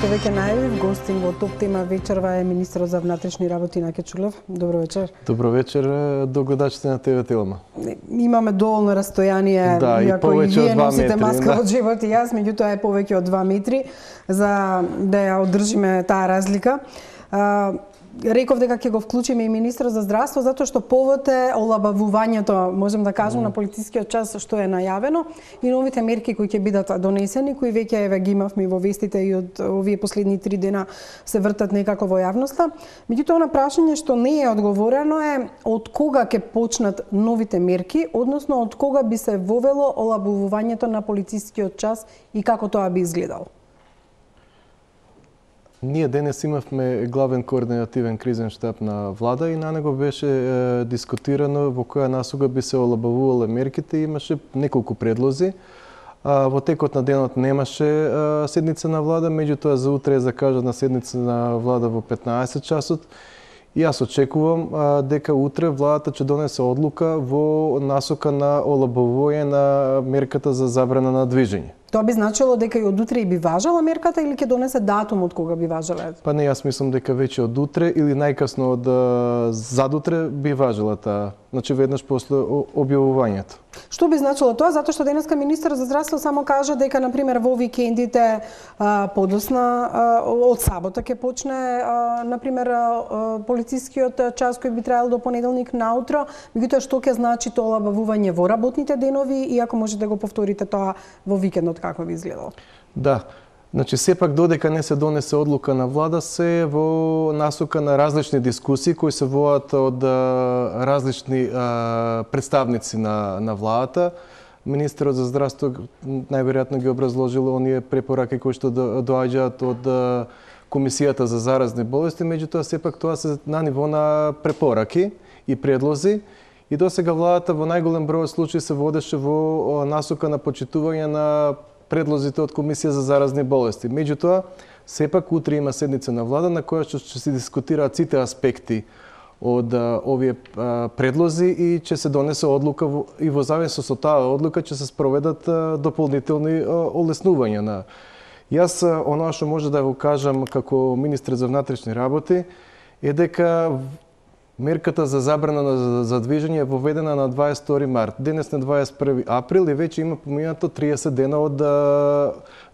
што веќе најавив, гостин во Топ тема вечерва е министерот за внатрешни работи Наке Чулев. Добро вечер. Добро вечер до гледачите на ТВ Телма. Имаме доволно растојание, иако и вие носите маска од живот и јас, меѓутоа е повеќе од 2 метри за да ја одржиме таа разлика. Реков дека ќе го вклучиме и министерот за здравство затоа што повод е олабавувањето, можем да кажем, на полицискиот час што е најавено и новите мерки кои ќе бидат донесени, кои веќе еве ги имавме во вестите и од овие последни 3 дена се вртат некако во јавноста. Меѓутоа на прашање што не е одговорено е од кога ќе почнат новите мерки, односно од кога би се вовело олабавувањето на полицискиот час и како тоа би изгледало. Ние денес имавме главен координативен кризен штаб на влада и на него беше дискутирано во која насока би се олабавувале мерките и имаше неколку предлози. Во текот на денот немаше седница на влада, меѓутоа за утре е закажана седница на влада во 15 часот. И јас очекувам дека утре владата ќе донесе одлука во насока на олабавување на мерката за забрана на движење. Тоа би значило дека и од утре и би важела мерката или ќе донесе датум од кога би важела? Па не, јас мислам дека веќе од утре или најкасно од задутре би важела таа, значи веднаш после објавувањето. Што би значило тоа? Затоа што денеска министерот за здравство само кажа дека на пример во викендите подосна од сабота ќе почне на пример полицискиот час кој би траел до понеделник наутро, меѓутоа што ќе значи тоа олабавување во работните денови и ако можете да го повторите тоа во викендот како би изгледало? Да. Значи, сепак додека не се донесе одлука на влада, се во насока на различни дискусии кои се водат од различни представници на владата. Министерот за здравство најверојатно ги образложил оние препораки кои што доаѓаат од Комисијата за заразни болести, меѓутоа сепак тоа се на ниво на препораки и предлози. И досега владата во најголем број случаи се водеше во насока на почитување на предлозите од Комисија за заразни болести. Меѓутоа, сепак утре има седница на влада на која ќе се дискутираат сите аспекти од овие предлози и ќе се донесе одлука и во зависност од таа одлука ќе се спроведат дополнителни олеснувања на. Јас оноа што може да го кажам како министр за внатрешни работи е дека мерката за забрана за движење е воведена на 22 март. Денес на 21 април и веќе има поминато 30 дена од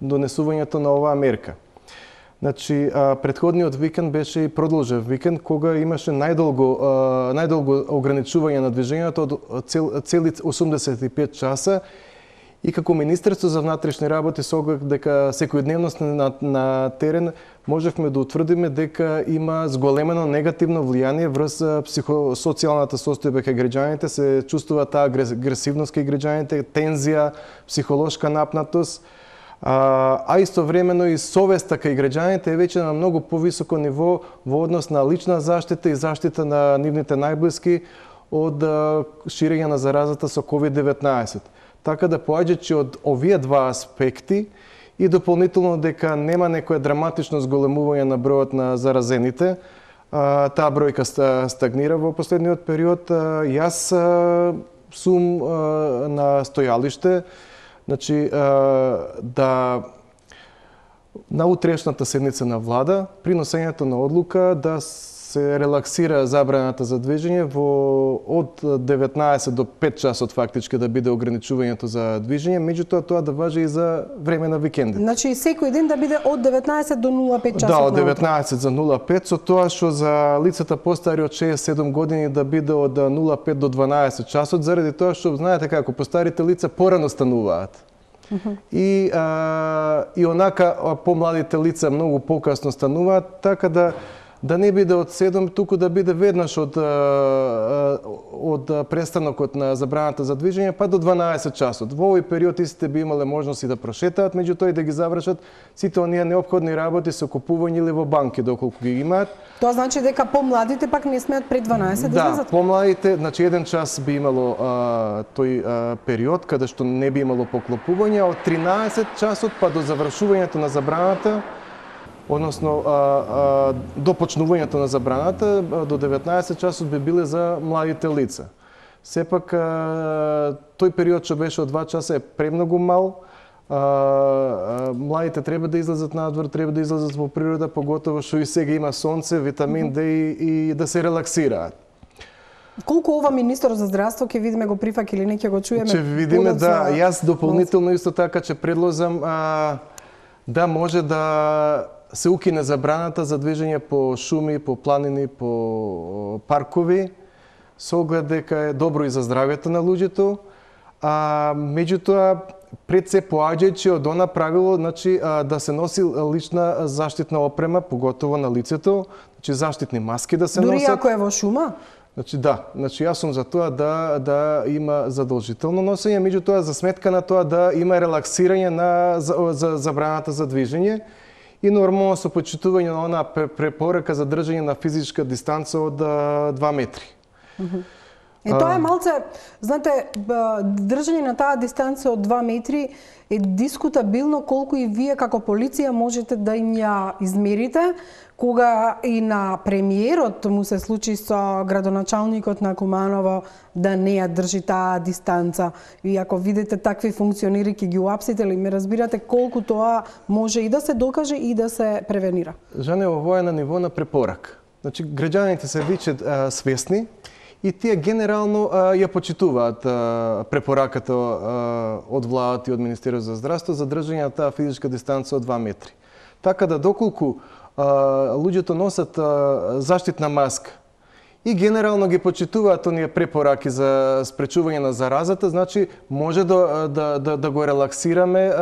донесувањето на оваа мерка. Значи, претходниот викенд беше и продолжен викенд, кога имаше најдолго ограничување на движењето од цели 85 часа. И како Министерство за внатрешни работи, со оглед дека секојдневност на терен, можевме да утврдиме дека има зголемено негативно влијание врз психосоцијалната состојба кај граѓаните, се чувствува таа агресивност кај граѓаните, тензија, психолошка напнатост, а истовремено и совеста кај граѓаните е веќе на многу повисоко ниво во однос на лична заштита и заштита на нивните најблиски од ширење на заразата со COVID-19. Така да поаѓајќи од овие два аспекти и дополнително дека нема некоја драматично зголемување на бројот на заразените, таа бројка стагнира во последниот период, јас сум на стојалиште, значи да на утрешната седница на влада при носењето на одлука да се релаксира забраната за движење од 19 до 5 часот фактички да биде ограничувањето за движење, меѓутоа тоа да важи и за време на викендите. Значи секој ден да биде од 19 до 05 часот. Да, од 19 за 05, со тоа што за лицата постари од 67 години да биде од 05 до 12 часот, заради тоа што знаете како постарите лица порано стануваат. И онака помладите лица многу покасно стануваат, така да не биде од 7, туку да биде веднаш од престанокот на забраната за движење па до 12 часот. Во овој период истите би имале можност и да прошетаат, меѓутоа и да ги завршат сите оние неопходни работи со купување или во банки доколку ги имаат. Тоа значи дека помладите пак не смеат пред 12 да излезат? Да, помладите, значи 1 час би имало тој период каде што не би имало поклопување, од 13 часот па до завршувањето на забраната, односно до почнувањето на забраната до 19 часот би биле за младите лица. Сепак тој период што беше од 2 часа е премногу мал, Младите треба да излезат надвор, треба да излезат во природа, поготово што и сега има сонце, витамин Д и да се релаксираат. Колку ова министер за здравство ќе видиме го прифак или не ќе го чуеме? Ќе видиме, да. Јас дополнително исто така ќе предлозам да може да се укине забраната за движење по шуми, по планини, по паркови, со оглед дека е добро и за здравјето на луѓето. Меѓутоа, пред се поаѓајќи од она правило, значи да се носи лична заштитна опрема, поготово на лицето, значи заштитни маски да се носат. Дури ако е во шума? Значи да, јас сум за тоа да има задолжително носење, меѓутоа за сметка на тоа да има релаксирање на за забраната за движење и нормално со почитување на она препорака за држање на физичка дистанца од 2 метри. Тоа е малце, знаете, држање на таа дистанца од 2 метри е дискутабилно колку и вие како полиција можете да им ја измерите, кога и на премиерот му се случи со градоначалникот на Куманово да не ја држи таа дистанца. И ако видите такви функционери ќе ги уапсите ли, ме разбирате колку тоа може и да се докаже и да се превенира. Жане, ово е на ниво на препорак. Значи, граѓаните се веќе свесни и тие генерално ја почитуваат препораката од владата и од Министерството за здравство за држање на таа физичка дистанца од 2 метри. Така да доколку луѓето носат заштитна маска и генерално ги почитуваат оние препораки за спречување на заразата, значи може да го релаксираме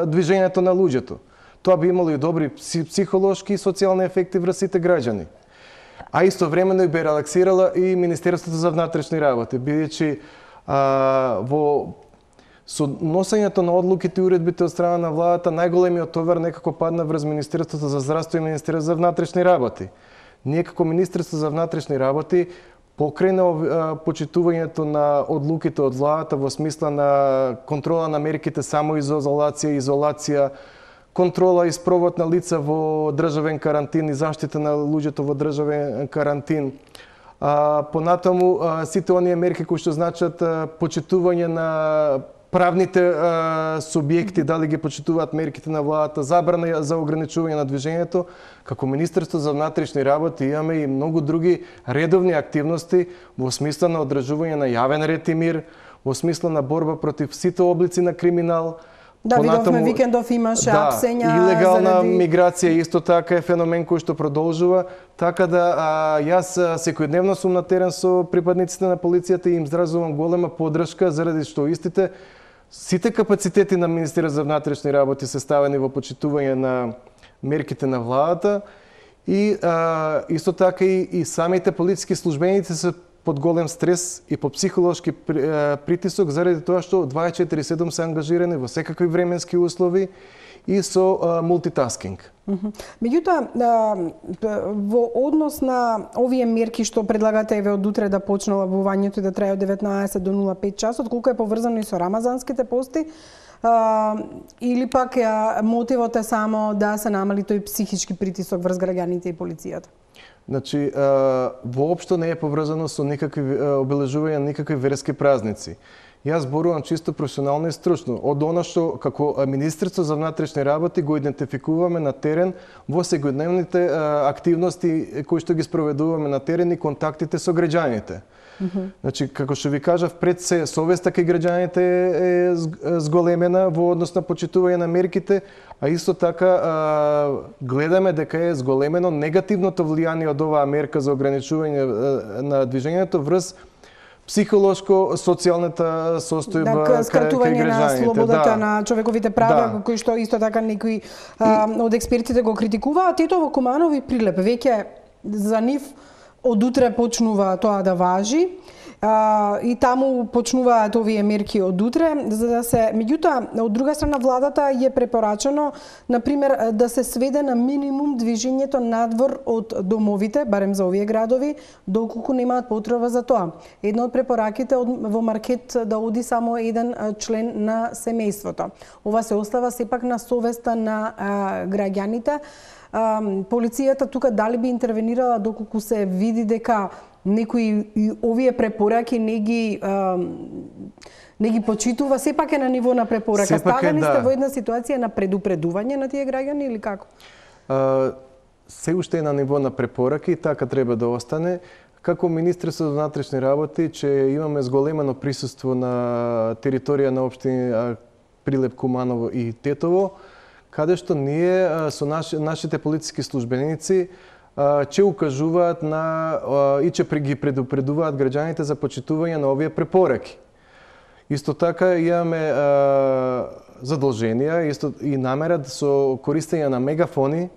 движењето на луѓето. Тоа би имало и добри психолошки и социјални ефекти врз сите граѓани. А истовремено и би релаксирала и Министерството за внатрешни работи, бидејќи со носењето на одлуките и уредбите од страна на владата, најголемиот товар некако падна врз Министерството за здравство и Министерството за внатрешни работи. Ние како Министерство за внатрешни работи, покрај на почитувањето на одлуките од владата во смисла на контрола на мерките самоизолација, изолација, контрола и спровод на лица во државен карантин и заштита на луѓето во државен карантин. Понатаму сите оние мерки кои што значат почитување на правните субјекти, дали ги почитуваат мерките на владата, забрана за ограничување на движењето, како Министерство за внатрешни работи имаме и многу други редовни активности во смисла на одржување на јавен ред и мир, во смисла на борба против сите облици на криминал. Да, видовме викендов имаше апсења. Илегална миграција исто така е феномен кој што продолжува, така да јас секојдневно сум на терен со припадниците на полицијата и им изразувам голема поддршка заради што сите капацитети на Министерството за внатрешни работи се ставени во почитување на мерките на владата и исто така и самите полициски службеници се под голем стрес и по психолошки притисок заради тоа што 24/7 се ангажирани во секакви временски услови и со мултитаскинг. Меѓутоа, во однос на овие мерки што предлагате еве од утре да почне лабувањето и да трае од 19 до 05 часот, колку е поврзано и со рамазанските пости, или пак мотивот е само да се намали тој психички притисок врз граѓаните и полицијата? Значи, воопшто не е поврзано со никакви обележувања, никакви верски празници. Јас зборувам чисто професионално и стручно. Од она што како Министерство за внатрешни работи го идентификуваме на терен во секојдневните активности кои што ги спроведуваме на терен и контактите со граѓаните. Значи, како што ви кажав, пред се совеста кај граѓаните е зголемена во однос на почитување на мерките, а исто така гледаме дека е зголемено негативното влијание од оваа мерка за ограничување на движењето врз психолошко, социјалната состојба кај граѓаните. Скратување на слободата на човековите права, кои што исто така некои од експертите го критикуваат. Ето во Куманово и Прилеп веќе за нив од утре почнува тоа да важи. И таму почнуваат овие мерки од утре, за да се... Меѓутоа, од друга страна, владата е препорачено, например, да се сведе на минимум движењето надвор од домовите, барем за овие градови, доколку немаат потреба за тоа. Една од препораките во маркет да оди само еден член на семејството. Ова се остава сепак на совеста на граѓаните. Полицијата тука дали би интервенирала доколку се види дека некои и овие препораки не ги почитува, сепак е на ниво на препорака. Ставени сте во една ситуација на предупредување на тие граѓани или како? Се уште е на ниво на препораки и така треба да остане. Како Министерство за внатрешни работи, че имаме зголемено присуство на територија на општини Прилеп, Куманово и Тетово, каде што ние со нашите полициски службеници че укажуваат и че ги предупредуваат граѓаните за почитување на овие препораки. Исто така имаме задолженија и намера со користење на мегафони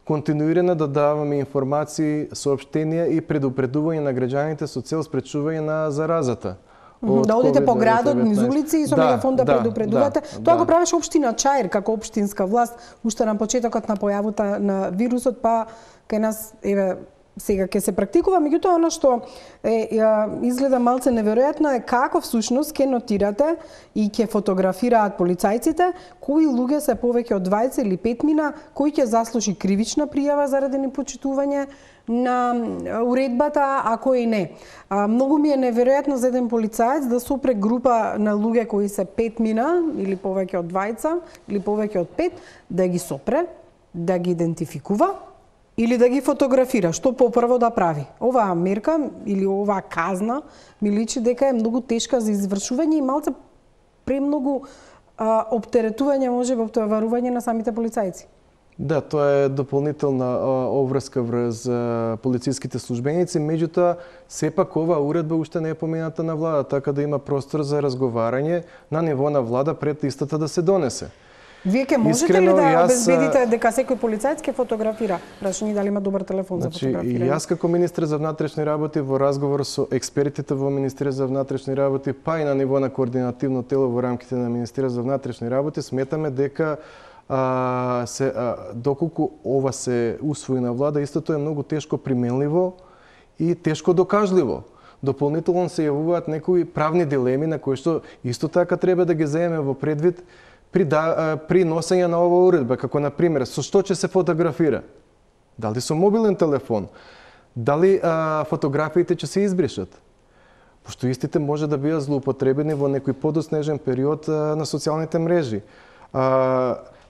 континуирано да даваме информации, соопштенија и предупредување на граѓаните со цел спречување на заразата. Да одите по градот, низ улици и со мегафон да предупредувате. Тоа го правеше општина Чаир како општинска власт уште на почетокот на појавата на вирусот, па кај нас сега ќе се практикува, меѓутоа она што изгледа малце неверојатно е како всушност ќе нотирате и ќе фотографираат полицајците кои луѓе се повеќе од 20 или 5 мина, кој ќе заслужи кривична пријава заради непочитување на уредбата, а кој не. Многу ми е неверојатно за еден полицаец да сопре група на луѓе кои се 5 мина или повеќе од 20 или повеќе од 5, да ги сопре, да ги идентификува или да ги фотографира, што попрво да прави. Оваа мерка или оваа казна ми личи дека е многу тешка за извршување и малце премногу оптеретување може во оптоварување на самите полицајци. Да, тоа е дополнителна обврска врз полициските службеници, меѓутоа сепак оваа уредба уште не е помината на влада, така да има простор за разговарање на ниво на влада пред истата да се донесе. Вие ќе можете ли да обезбедите дека секој полицаец ќе фотографира? Прашање дали има добар телефон за фотографирање? Јас како министер за внатрешни работи во разговор со експертите во Министерството за внатрешни работи, па и на ниво на координативно тело во рамките на Министерството за внатрешни работи, сметаме дека доколку ова се усвои на влада, истото е многу тешко применливо и тешко докажливо. Дополнително се јавуваат некои правни дилеми на кои што исто така треба да ги земеме во предвид при носење на оваа уредба, како на пример со што ќе се фотографира? Дали со мобилен телефон? Дали фотографиите ќе се избришат? Пошто истите може да бидат злоупотребени во некој подоснежен период на социјалните мрежи.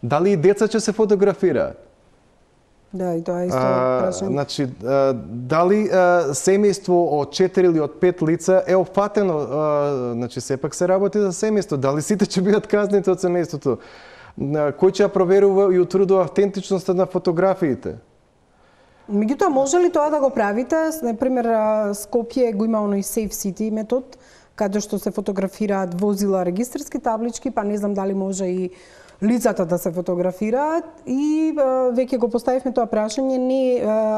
Дали и деца ќе се фотографираат? Да, и тоа е исто прашање. Значи, дали семејство од 4 или од 5 лица е опфатено, значи сепак се работи за семејство, дали сите ќе бидат казнети од семејството? Кој ќе проверува и утврдува автентичноста на фотографиите? Меѓутоа, може ли тоа да го правите? Например, Скопје го има оној Safe City метод, каде што се фотографираат возила, регистарски таблички, па не знам дали може и лицата да се фотографираат и веќе го поставивме тоа прашање,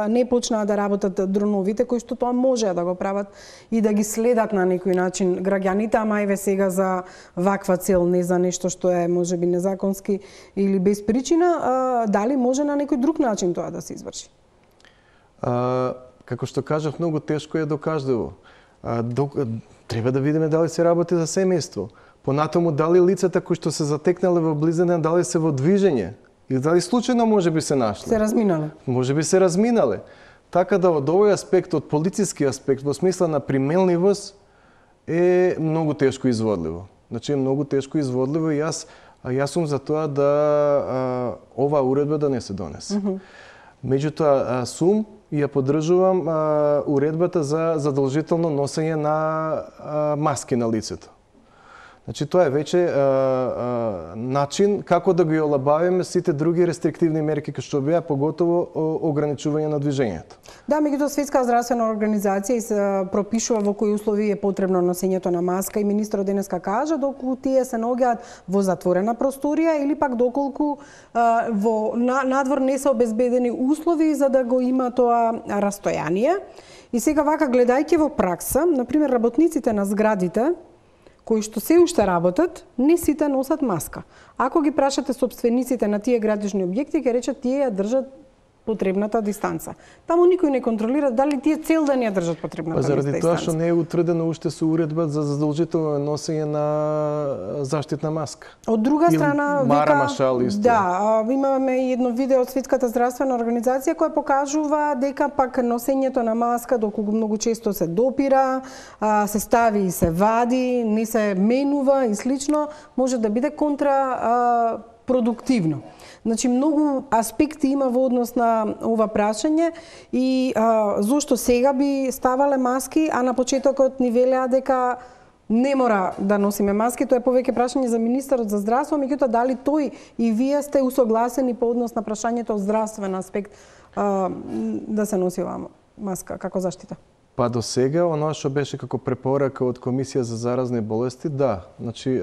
не почнаа да работат дроновите кои што тоа може да го прават и да ги следат на некој начин граѓаните, ама еве сега за ваква цел, не за нешто што е можеби незаконски или без причина, дали може на некој друг начин тоа да се изврши? Како што кажав, многу тешко е докажливо. Треба да видиме дали се работи за семејство. Понатаму, дали лицата кои што се затекнале во близина, дали се во движење? Или дали случајно може би се нашли? Се разминале. Може би се разминале. Така да од овој аспект, од политички аспект, во смисла на применливост, е многу тешко изводливо. Значи е многу тешко изводливо и јас сум за тоа да оваа уредба да не се донесе. Меѓутоа, сум и ја поддржувам уредбата за задолжително носење на маски на лицето. Значи, тоа е веќе начин како да ги олабавиме сите други рестриктивни мерки кои што беа, поготово ограничување на движењето. Да, меѓутоа Светска здравствена организација се пропишува во кои услови е потребно носењето на маска и министерот денеска кажа доколку тие се наоѓаат во затворена просторија или пак доколку во надвор не се обезбедени услови за да го има тоа растојание. И сега вака гледајќи во пракса, например работниците на зградите кои што се уште работат, не сите носат маска. Ако ги прашате собствениците на тие градежни објекти, ќе речат тие ја држат потребната дистанца. Таму никој не контролира дали тие цел ден ја држат потребната дистанца. Заради тоа што не е утврдено уште со уредба за задолжително носење на заштитна маска. Од друга страна, Машал исто. Да, имаме и едно видео од Светската здравствена организација која покажува дека пак носењето на маска доколку многу често се допира, се стави и се вади, не се менува и слично, може да биде контрапродуктивно. Значи, многу аспекти има во однос на ова прашање и зошто сега би ставале маски, а на почетокот ни велеа дека не мора да носиме маски. Тоа е повеќе прашање за министерот за здравство, меѓутоа дали тој и вие сте усогласени по однос на прашањето од здравствен аспект да се носи оваа маска како заштита? Па до сега, оно што беше како препорака од Комисија за заразни болести, да. Значи,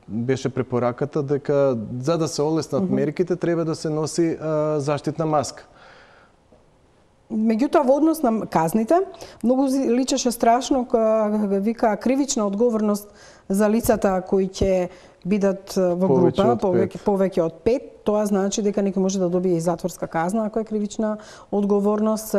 беше препораката дека за да се олеснат мерките, треба да се носи заштитна маска. Меѓутоа, во однос на казните, многу личеше страшно, вика, кривична одговорност за лицата кои ќе бидат во група повеќе од 5. Тоа значи дека некој може да добие и затворска казна ако е кривична одговорност.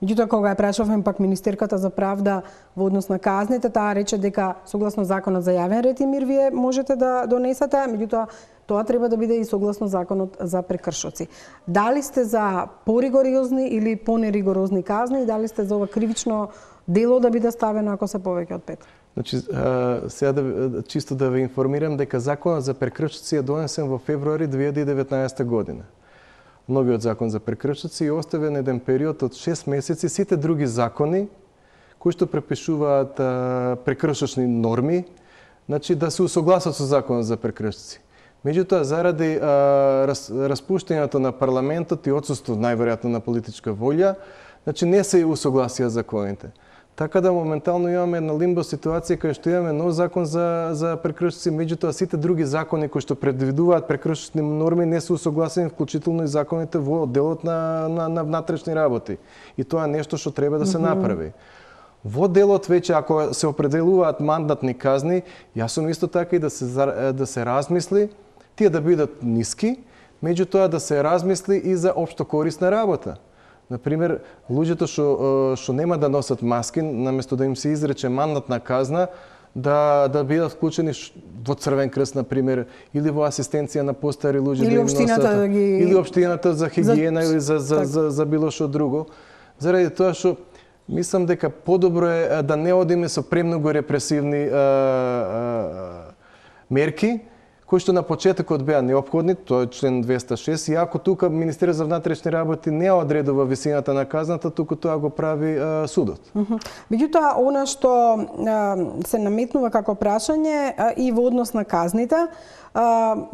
Меѓутоа, кога ја прашавме пак министерката за правда во однос на казните, таа рече дека согласно законот за јавен ред и мир вие можете да донесете, меѓутоа тоа треба да биде и согласно законот за прекршоци. Дали сте за поригорозни или понеригорозни казни и дали сте за ова кривично дело да биде ставено ако се повеќе од 5? Значи, сега чисто да ве информирам дека законот за прекршоци е донесен во февруари 2019 година. Новиот закон за прекршоци е оставен еден период од 6 месеци сите други закони кои што препишуваат прекршочни норми, значи да се усогласат со законот за прекршоци. Меѓутоа, заради распуштањето на парламентот и отсуство најверојатно на политичка волја, значи не се усогласија законите. Така да моментално имаме една лимбо ситуација кај што имаме нов закон за прекршоци, меѓутоа сите други закони кои што предвидуваат прекршочни норми не се усогласени, вклучително и законите во делот на внатрешни работи. И тоа е нешто што треба да се направи. Во делот веќе ако се определуваат мандатни казни, јас сум исто така и да се размисли тие да бидат ниски, меѓутоа да се размисли и за општо корисна работа. Например, луѓето што нема да носат маски, наместо да им се изрече мандатна казна, да бидат вклучени во Црвен крст, например, или во асистенција на постари луѓе или општината или општината за хигиена или за било што друго. Заради тоа што мислам дека подобро е да не одиме со премногу репресивни мерки, кои што на почетокот беа неопходни, тоа е член 206, иако тука Министерството за внатрешни работи не одредува висината на казната, туку тоа го прави судот. Меѓутоа, она што се наметнува како прашање и во однос на казните,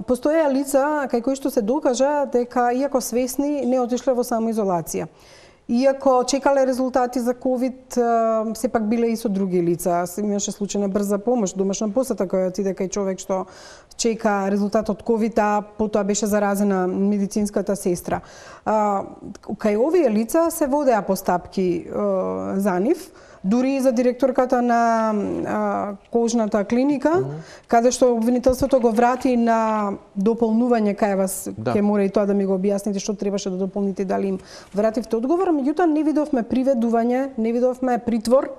постоеа лица кај кои што се докажа дека иако свесни не отишле во самоизолација. Иако чекале резултати за ковид, сепак биле и со други лица. Имаше случај на брза помош, домашна посета која отиде кај човек што чека резултат од ковид, а потоа беше заразена медицинската сестра. Кај овие лица се водеа постапки за нив, дури и за директорката на кожната клиника, каде што обвинителството го врати на дополнување кај вас, ќе мора и тоа да ми го објасните што требаше да дополните, дали им вративте одговор, меѓутоа не видовме приведување, не видовме притвор,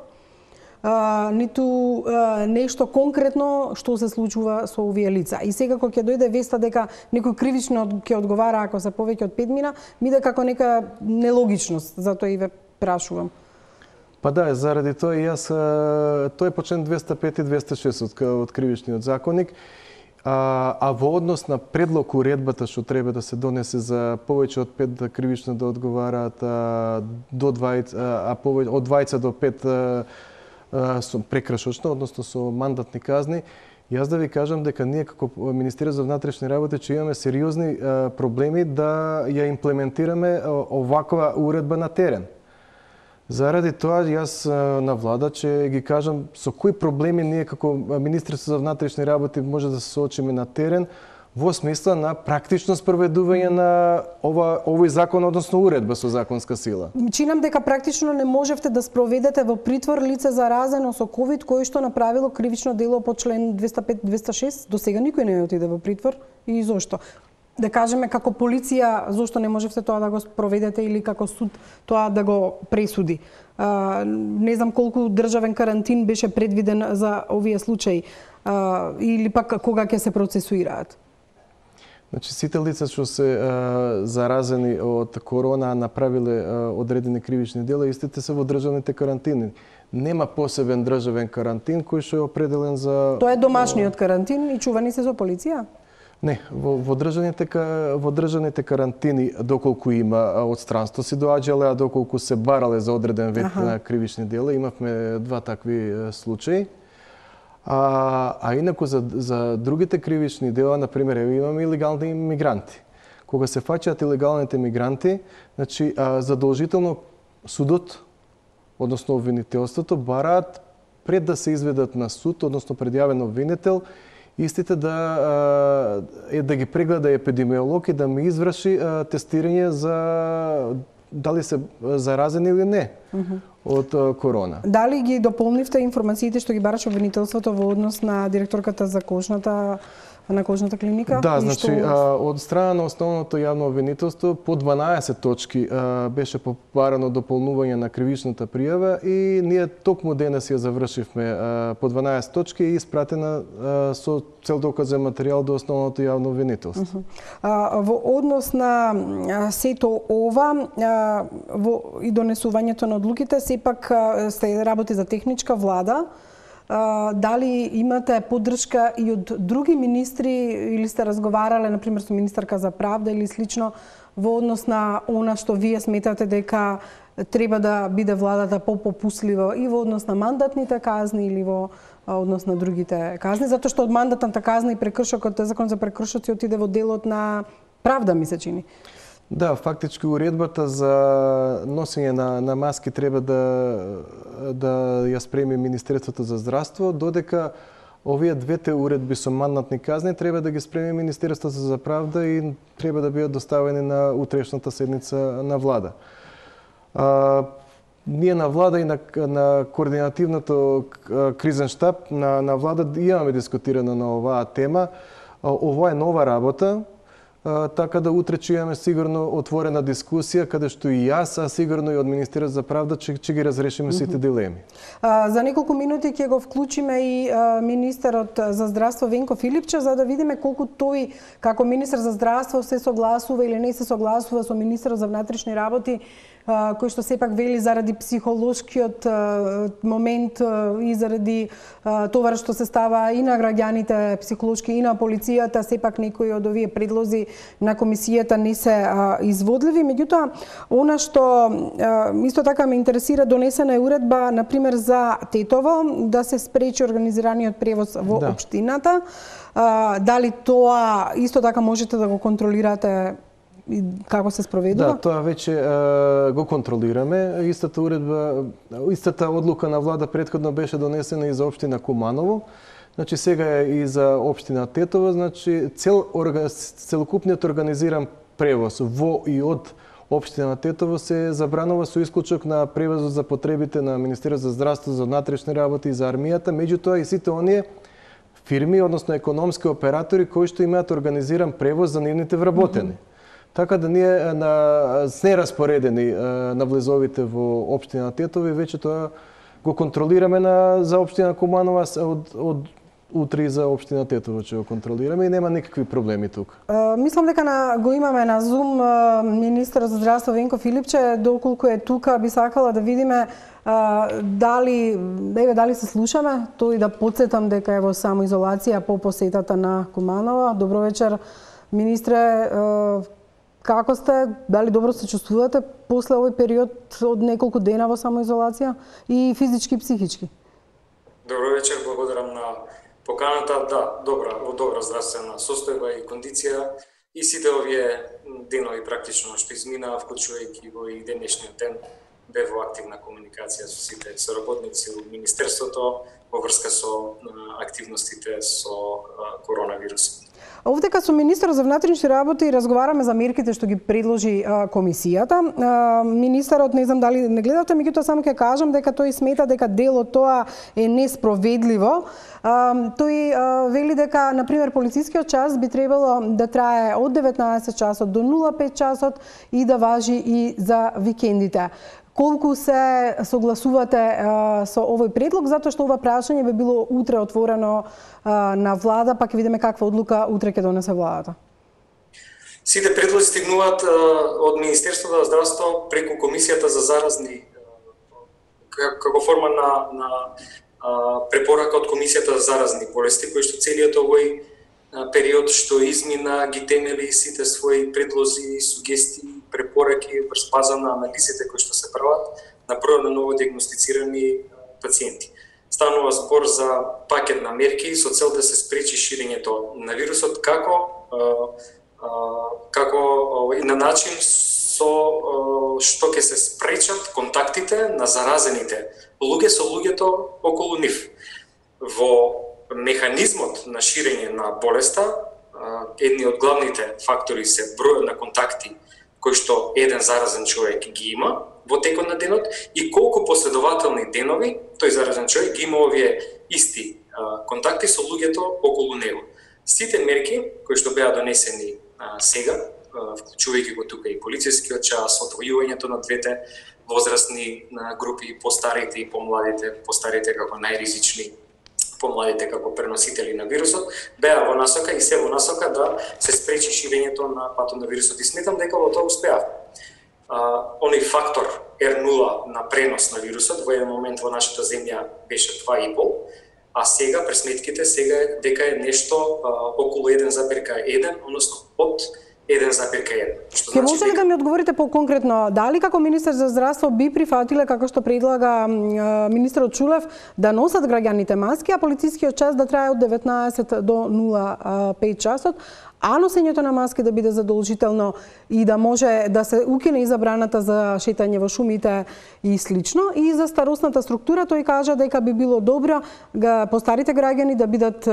ниту нешто конкретно што се случува со овие лица. И сега кога ќе дојде веста дека некој кривично ќе одговара ако се повеќе од 5 мина, ми иде како нека нелогичност, затоа и ве прашувам. Па да, заради тоа и јас, тој е по член 205 и 206 од кривичниот законник, а во однос на предлог уредбата што треба да се донесе за повеќе од 5 кривично да одговараат до 20, од 20 до 5 со прекршочно, односно со мандатни казни, јас да ви кажам дека ние како Министерство за внатрешни работи че имаме сериозни проблеми да ја имплементираме оваква уредба на терен. Заради тоа јас на влада че ги кажам со кои проблеми ние како Министерство за внатрешни работи може да се соочиме на терен во смисла на практично спроведување на овој закон, односно уредба со законска сила. Чинам дека практично не можевте да спроведете во притвор лице заразено со ковид кој што направило кривично дело по член 205-206. До сега никој не отиде во притвор и зошто? да кажеме како полиција, зошто не можевте тоа да го спроведете или како суд тоа да го пресуди? Не знам колку државен карантин беше предвиден за овие случаи или пак кога ќе се процесуираат? Значи, сите лица што се заразени од корона направиле одредени кривични дела, истите се во државните карантини. Нема посебен државен карантин кој што е определен за... Тоа е домашниот карантин и чувани се со полиција? Не, во државните карантини, доколку има одстранство си доаѓале, а доколку се барале за одреден вид на кривични дела, имавме 2 такви случаи. А инаку за другите кривични дела, например, имаме илегални мигранти. Кога се фаќаат илегалните мигранти, значи задолжително судот, односно обвинителството, бараат пред да се изведат на суд, односно предјавен обвинител, истите да ги прегледа епидемиолог и да ми изврши тестирање за дали се заразени или не од корона. Дали ги дополнивте информациите што ги бараше обвинителството во однос на директорката за кожната клиника? Да, значи од страна на основното јавно обвинителство по 12 точки беше побарано дополнување на кривичната пријава и ние токму денес ја завршивме по 12 точки и испратена со цел доказен материјал до основното јавно обвинителство. Во однос на сето ова и донесувањето на одлуките, сепак се работи за техничка влада. Дали имате поддршка и од други министри или сте разговарале, например, со министарка за правда или слично во однос на она што вие сметате дека треба да биде владата попопуслива и во однос на мандатните казни или во однос на другите казни, затоа што од мандатната казна и прекршокот, закон за прекршоци отиде во делот на правда, ми се чини. Да, фактички уредбата за носење на маски треба да ја спреми Министерството за здравство, додека овие двете уредби со мандатни казни треба да ги спреми Министерството за правда и треба да бидат доставени на утрешната седница на влада. Ние на влада и на координативното кризен штаб на влада имаме дискутирано на оваа тема. Ова е нова работа. Така да утре ќе имаме сигурно отворена дискусија, каде што и јас, а сигурно и од Министерството за правда, ќе ги разрешиме сите дилеми. За неколку минути ќе го вклучиме и министерот за здравство Венко Филипче, за да видиме колку тој, како министер за здравство, се согласува или не се согласува со министерот за внатрешни работи, кој што сепак вели заради психолошкиот момент и заради тоа што се става и на граѓаните психолошки и на полицијата, сепак некои од овие предлози на комисијата не се изводливи. Меѓутоа, она што исто така ме интересира, донесена е уредба, например, за Тетово, да се спречи организираниот превоз во општината. Дали тоа исто така можете да го контролирате и како се спроведува? Да, тоа веќе го контролираме. Истата одлука на влада претходно беше донесена и за општина Куманово. Значи сега е и за општина Тетово, значи целокупниот организиран превоз во и од општина Тетово се забранува со исклучок на превозот за потребите на Министерството за здравство, за внатрешни работи и за армијата, меѓутоа и сите оние фирми, односно економски оператори кои што имаат организиран превоз за нивните вработени. Така да ние сме распоредени на влезовите во општина Тетово и веќе тоа го контролираме за општина Куманова, од утре и за општина Тетово ќе го контролираме и нема никакви проблеми тука. Мислам дека го имаме на Зум министерот за здравство Венко Филипче, доколку е тука, би сакала да видиме дали се слушаме, тој да потсетам дека е во самоизолација по посетата на Куманова. Добро вечер, министре. Како сте? Дали добро се чувствувате после овој период од неколку дена во самоизолација и физички и психички? Добро вечер, благодарам на поканата. Да, во добра здравствена состојба и кондиција. И сите овие денови практично што измина, вклучувајќи го и денешниот ден, бев во активна комуникација со сите соработници од Министерството во врска со активностите со коронавирусот. Овдека со министерот за внатрешни работи разговараме за мерките што ги предложи комисијата. Министерот, не знам дали не гледате, меѓутоа само ќе кажам дека тој смета дека дел од тоа е неспроведливо. Тој вели дека, например, полицискиот час би требало да трае од 19 часот до 05 часот и да важи и за викендите. Колку се согласувате со овој предлог, затоа што ова прашање би било утре отворено на влада, па ќе видиме каква одлука утре ќе донесе владата? Сите предлози стигнуваат од Министерството за здравство преку Комисијата за заразни, како форма на препорака од Комисијата за заразни болести, кој што целиот овој период што измина ги темели сите своји предлози, сугестии, препораки врз база на анализите кои што се прават на број на новодиагностицирани пациенти. Станува збор за пакет на мерки со цел да се спречи ширењето на вирусот, како и на начин со што ќе се спречат контактите на заразените луѓе со луѓето околу нив. Во механизмот на ширење на болеста, едни од главните фактори се бројот на контакти кој што еден заразен човек ги има во текот на денот и колку последователни денови тој заразен човек ги има овие исти контакти со луѓето околу него. Сите мерки кои што беа донесени сега, вклучувајќи го тука и полицискиот час, одвојувањето на двете возрастни групи, постарите и помладите, постарите како најризични, помладите како преносители на вирусот, беа во насока и се во насока да се спречи ширењето на патот на вирусот. И сметам дека во тоа успеав. Оној фактор R0 на пренос на вирусот во еден момент во нашата земја беше 2,5, а сега пресметките сега дека е нешто околу 1,1, односно од 1,1. Ке може ли да ми одговорите по-конкретно, дали како министер за здравство би прифатиле, како што предлага министерот Чулев, да носат граѓаните маски, а полицискиот час да трае од 19 до 05 часот, а носењето на маски да биде задолжително и да може да се укине и забраната за шетање во шумите и слично. И за старосната структура тој кажа дека би било добро постарите граѓани да бидат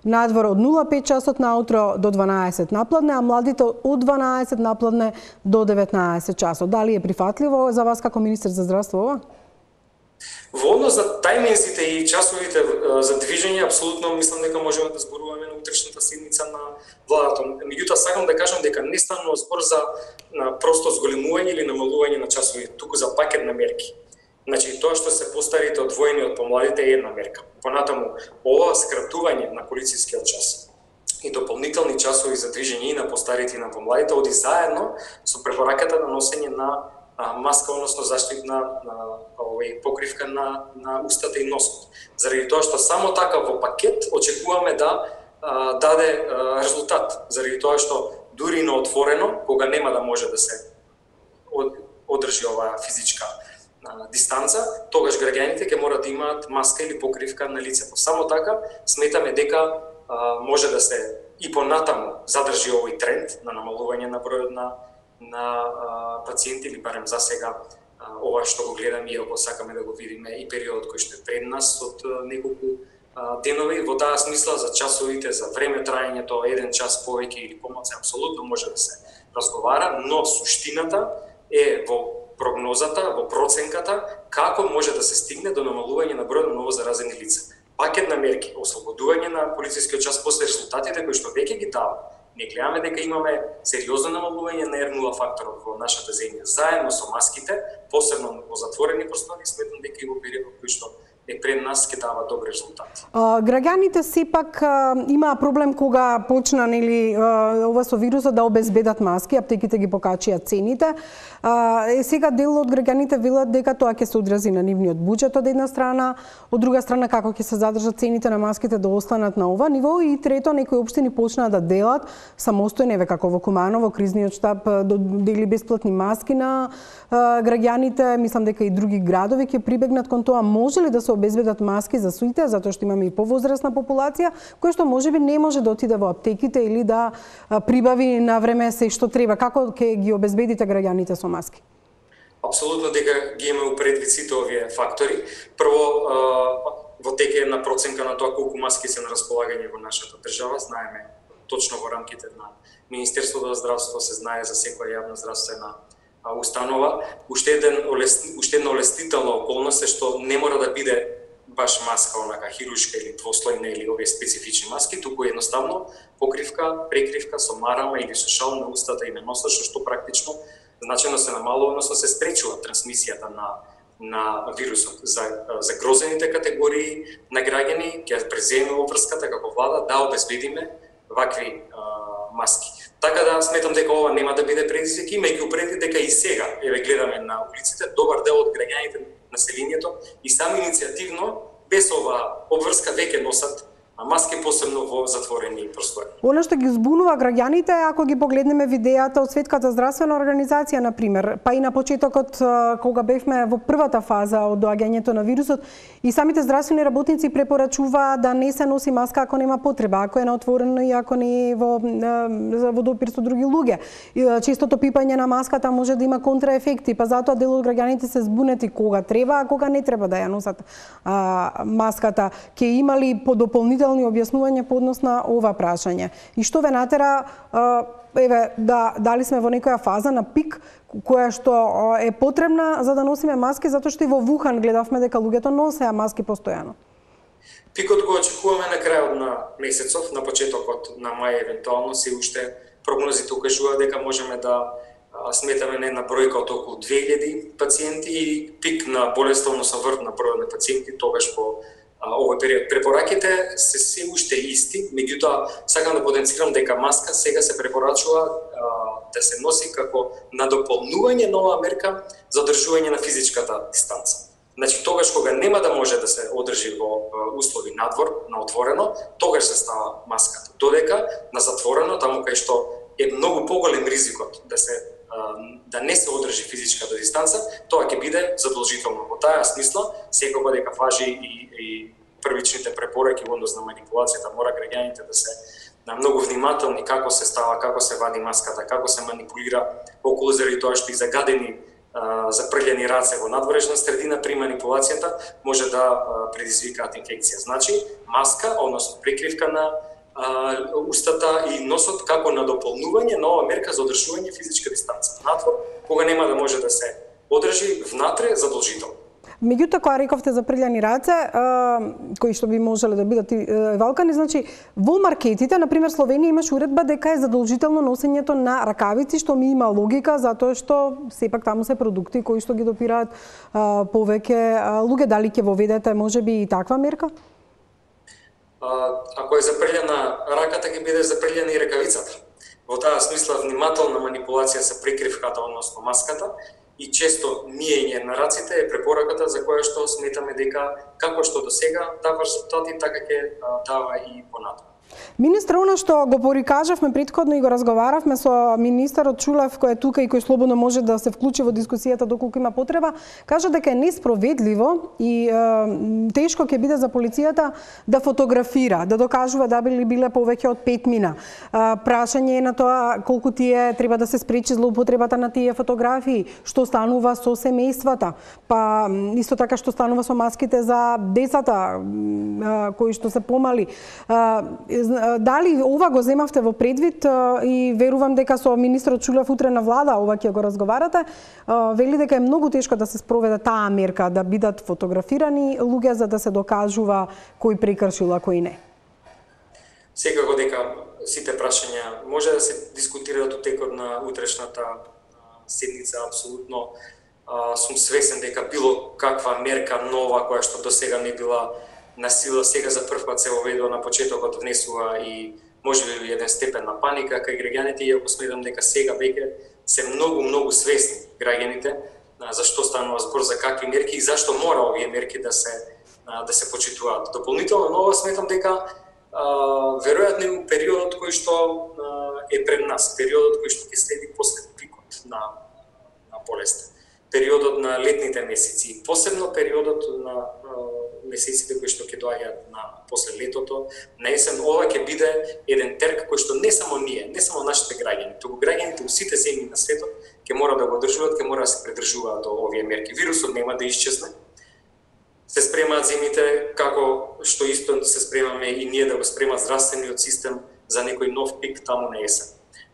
надвор од 05 часот наутро до 12 напладне, а младите од 12 напладне до 19 часот. Дали е прифатливо за вас како министер за здравство ова? Во однос на тајминзите и часовите за движење, апсолутно мислам дека можеме да зборуваме на утрешната седница на владата. Меѓутоа, сакам да кажам дека не станува збор за просто зголемување или намалување на часови, туку за пакет на мерки. Значи, тоа што се постарите одвоени од помладите е една мерка. Понатаму, ова скратување на полицискиот час и дополнителни часови за движење и на постарите и на помладите оди заедно со препораката на носење на маска, односно заштитна покривка на устата и носот. Заради тоа што само така во пакет очекуваме да даде резултат. Заради тоа што дури на отворено, кога нема да може да се одржи оваа физичка дистанца, тогаш граѓаните ќе мора да имаат маска или покривка на лицето. Само така сметаме дека може да се и понатаму задржи овој тренд на намалување на бројот на пациенти, или барем за сега ова што го гледаме, иако сакаме да го видиме и периодот кој што е пред нас од неколку денови. Во таа смисла за часовите, за време траењето, 1 час повеќе или помалку, апсолутно може да се разговара, но суштината е во прогнозата, во проценката, како може да се стигне до намалување на бројот на новозаразени лица. Пакет на мерки, ослободување на полицискиот час после резултатите кои што веќе ги дава. Не гледаме дека имаме сериозно намалување на R0 факторот во нашата земја, заедно со маските, посебно во затворени простори, сметам дека и во периодот кој што е пред нас ќе дава добри резултати. Граѓаните сепак имаа проблем кога почна ова со вирусот да обезбедат маски, аптеките ги покачија цените. Сега дел од граѓаните велат дека тоа ќе се одрази на нивниот буџет од една страна, од друга страна како ќе се задржат цените на маските да останат на ова ниво, и трето, некои општини почнаа да делат самостојно, еве како во Куманово, кризниот штаб дели бесплатни маски на граѓаните. Мислам дека и други градови ќе прибегнат кон тоа. Може ли да се обезбедат маски за сите, затоа што имаме и повозрастна популација, која што можеби не може да отиде во аптеките или да прибави на време се што треба? Како ќе ги обезбедите граѓаните со маски? Апсолутно дека ги имаме предвид сите овие фактори. Прво, во тек е една проценка на тоа колку маски се на располагање во нашата држава. Знаеме точно во рамките на Министерството за здравство, се знае за секоја јавна здравствена установа. Уште една олеснителна околност е што не мора да биде баш маска онака хируршка или двослојна или овие специфични маски, туку едноставно покривка, прекривка со марама или со шал на устата и на носот, што практично значено се намалува, односно се спречува трансмисијата на вирусот. За грозените категории на граѓани ќе преземе обврската како влада да обезбедиме вакви маски. Така да сметам дека ова нема да биде предизвик, имајќи предвид дека и сега гледаме на улиците добар дел од граѓаните, населението и сами иницијативно без ова обврска веќе носат маски, посебно во затворени простори. Оно што ги збунува граѓаните, ако ги погледнеме видеата од Светската здравствена организација, например, па и на почетокот кога бевме во првата фаза од доаѓањето на вирусот, и самите здравствени работници препорачува да не се носи маска ако нема потреба, ако е на отворено и ако не е во допир со други луѓе. Честото пипање на маската може да има контраефекти, па затоа дел од граѓаните се збунети кога треба, а кога не треба да ја носат маската. Ке имали по дополнителни објаснување по однос на ова прашање? И што ве натера, дали сме во некоја фаза на пик, која што е потребна за да носиме маски, затоа што и во Вухан гледавме дека луѓето носеа маски постојано? Пикот го очекуваме на крајот на месецов, на почетокот на мај евентуално, се уште прогнозите укажуваат дека можеме да сметаме на една бројка од околу 2000 пациенти и пик на болеста, односно врт на бројот на пациенти тогаш по овој период. Препораките се уште исти, меѓутоа сакам да потенцирам дека маска сега се препорачува да се носи како надополнување на оваа мерка за одржување на физичката дистанца. Значи тогаш кога нема да може да се одржи во услови надвор, на отворено, тогаш се става маската. Додека на затворено, таму кај што е многу поголем ризикот да не се одржи физичката дистанца, тоа ќе биде задолжително. Во таа смисла, секогаш дека важи и првичните препораки во однос на манипулацијата, мора граѓаните да се многу внимателни како се става, како се вади маската, како се манипулира околу, заради тоа што и загадени запрљани раце во надворешна средина при манипулацијата може да предизвикаат инфекција. Значи, маска, односно прикривка на устата и носот како надополнување на ова мерка за одржување физичка дистанца. Надвор, кога нема да може да се одржи, внатре задолжително. Меѓутоа, кога рековте за прљани раце, кои што би можеле да бидат валкани, значи, во маркетите, например, Словенија имаш уредба дека е задолжително носењето на ракавици, што ми има логика, затоа што сепак таму се продукти кои што ги допираат повеќе луѓе. Дали ќе воведете можеби и таква мерка? Ако е запрљана раката, ќе биде запрљана и ракавицата. Во таа смисла внимателна манипулација со прикривката, односно маската, и често миење на раците е препораката за која што сметаме дека како што до сега дава резултати, така ќе дава и понатаму. Министр, она што го порикажавме претходно и го разговаравме со министерот Чулев, кој е тука и кој слободно може да се вклучи во дискусијата доколку има потреба, кажа дека е неспроведливо и тешко ќе биде за полицијата да фотографира, да докажува да биле повеќе од 5 мина. Прашање е на тоа колку тие треба да се спречи злоупотребата на тие фотографии, што станува со семејствата, па исто така што станува со маските за децата кои што се помали. Дали ова го земавте во предвид и верувам дека со министрот Чулев утре на влада ова ќе го разговарате, вели дека е многу тешко да се спроведе таа мерка, да бидат фотографирани луѓе за да се докажува кој прекршил, а кој не. Секако дека сите прашања може да се дискутираат во текот на утрешната седница, апсолутно сум свесен дека било каква мерка нова која што досега не била на сила, сега за прв пат се воведува на почетокот, внесува и можеби еден степен на паника кај граѓаните, иако сметам дека сега веќе се многу свесни граѓаните за што станува збор, за какви мерки и зашто мора овие мерки да се почитуваат. Дополнително нова сметам дека веројатно и периодот кој што е пред нас, периодот кој што ќе следи после пикот на болест, периодот на летните месеци, посебно периодот на месеците кои што ќе доаѓаат после летото, на есен, ова ќе биде еден терк кој што не само ние, не само нашите граѓани, туку граѓаните во сите земји на светот ќе мора да го одржуваат, ќе мора да се придржуваат до овие мерки. Вирусот нема да исчезне. Се спремаат земјите како што исто се спремаме и ние да го спремат здравствениот систем за некој нов пик таму на есен.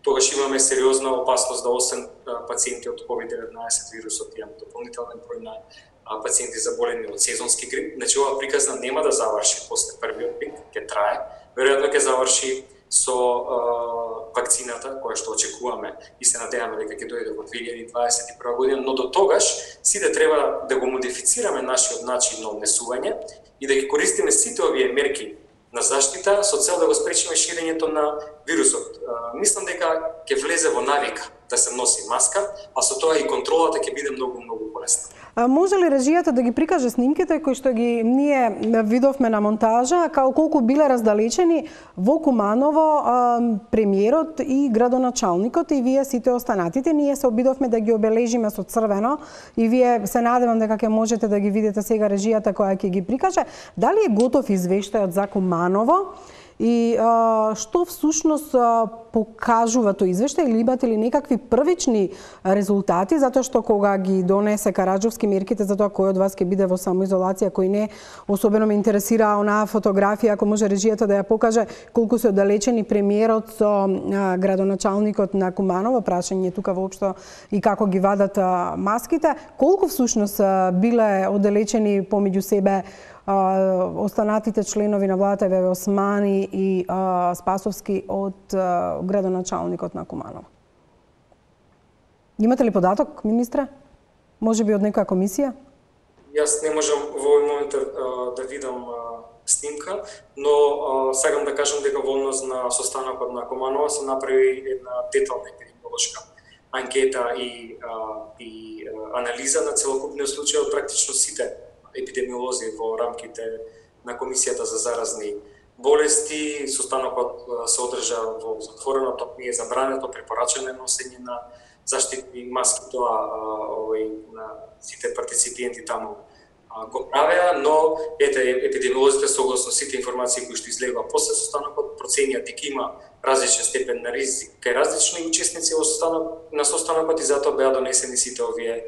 Тогаш имаме сериозна опасност да 8 пациенти од COVID-19 вирусот имаме дополнителен број на пациенти заболени од сезонски грип. Значи ова приказна нема да заврши после првиот пик, ќе трае. Веројатно ќе заврши со вакцината која што очекуваме и се надеваме дека ќе дојде во 2021 година, но до тогаш сите треба да го модифицираме нашиот начин на однесување и да ги користиме сите овие мерки на заштита со цел да го спречиме ширењето на вирусот. Мислам дека ќе влезе во навика да се носи маска, а со тоа и контролата ќе биде многу полесна. Може ли режијата да ги прикаже снимките кои што ги ние видовме на монтажа, као колку биле раздалечени во Куманово премиерот и градоначалникот и вие сите останатите? Ние се обидовме да ги обележиме со црвено и вие се надевам дека ќе можете да ги видите сега режијата која ќе ги прикаже. Дали е готов извештајот за Куманово? И што всушност покажува тој извештај, или имате ли некакви првични резултати, затоа што кога ги донесе Караджовски мерките за тоа кој од вас ќе биде во самоизолација, кој не, особено ме интересира онаа фотографија, ако може режијата да ја покаже колку се оддалечени премиерот со градоначалникот на Куманово, прашање тука воопшто и како ги вадат маските, колку всушност биле оддалечени помеѓу себе останатите членови на владата Веве Османи и Спасовски од градоначалникот на Куманово? Имате ли податок, министре? Може би од некоја комисија? Јас не можам во овој момент да видам снимка, но сакам да кажам дека во однос на состанокот на Куманово се направи една детална епидемиолошка анкета и анализа на целокупниот случај од практично сите епидемиолози во рамките на Комисијата за заразни болести. Состанокот се одржа во затвореното, не е забрането, препорачено носење на заштитни маски, тоа на сите партиципиенти таму го правеа, но епидемиолозите согласно сите информации кои што излегува после состанокот проценија дека има различен степен на ризик кај различни учесници во состанокот и затоа беа донесени сите овие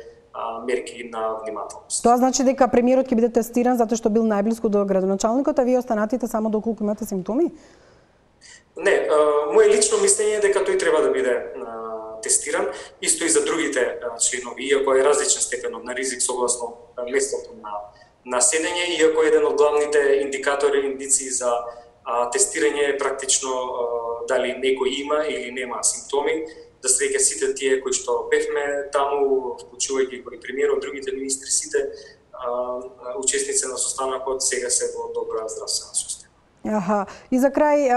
мерки на внимателност. Тоа значи дека премиерот ќе биде тестиран затоа што бил најблиску до градоначалникот, а вие останатите само доколку имате симптоми? Не, моје лично мислење е дека тој треба да биде тестиран, исто и за другите членови, иако е различен степенот на ризик согласно местото на седење, иако еден од главните индикатори, индици за тестирање е практично дали некој има или нема симптоми, да среќа сите тие кои што бевме таму, вклучувајќи кои премиерот, другите министри, сите учесници на состанокот сега се во добра здравствена состојба. Аха. И за крај,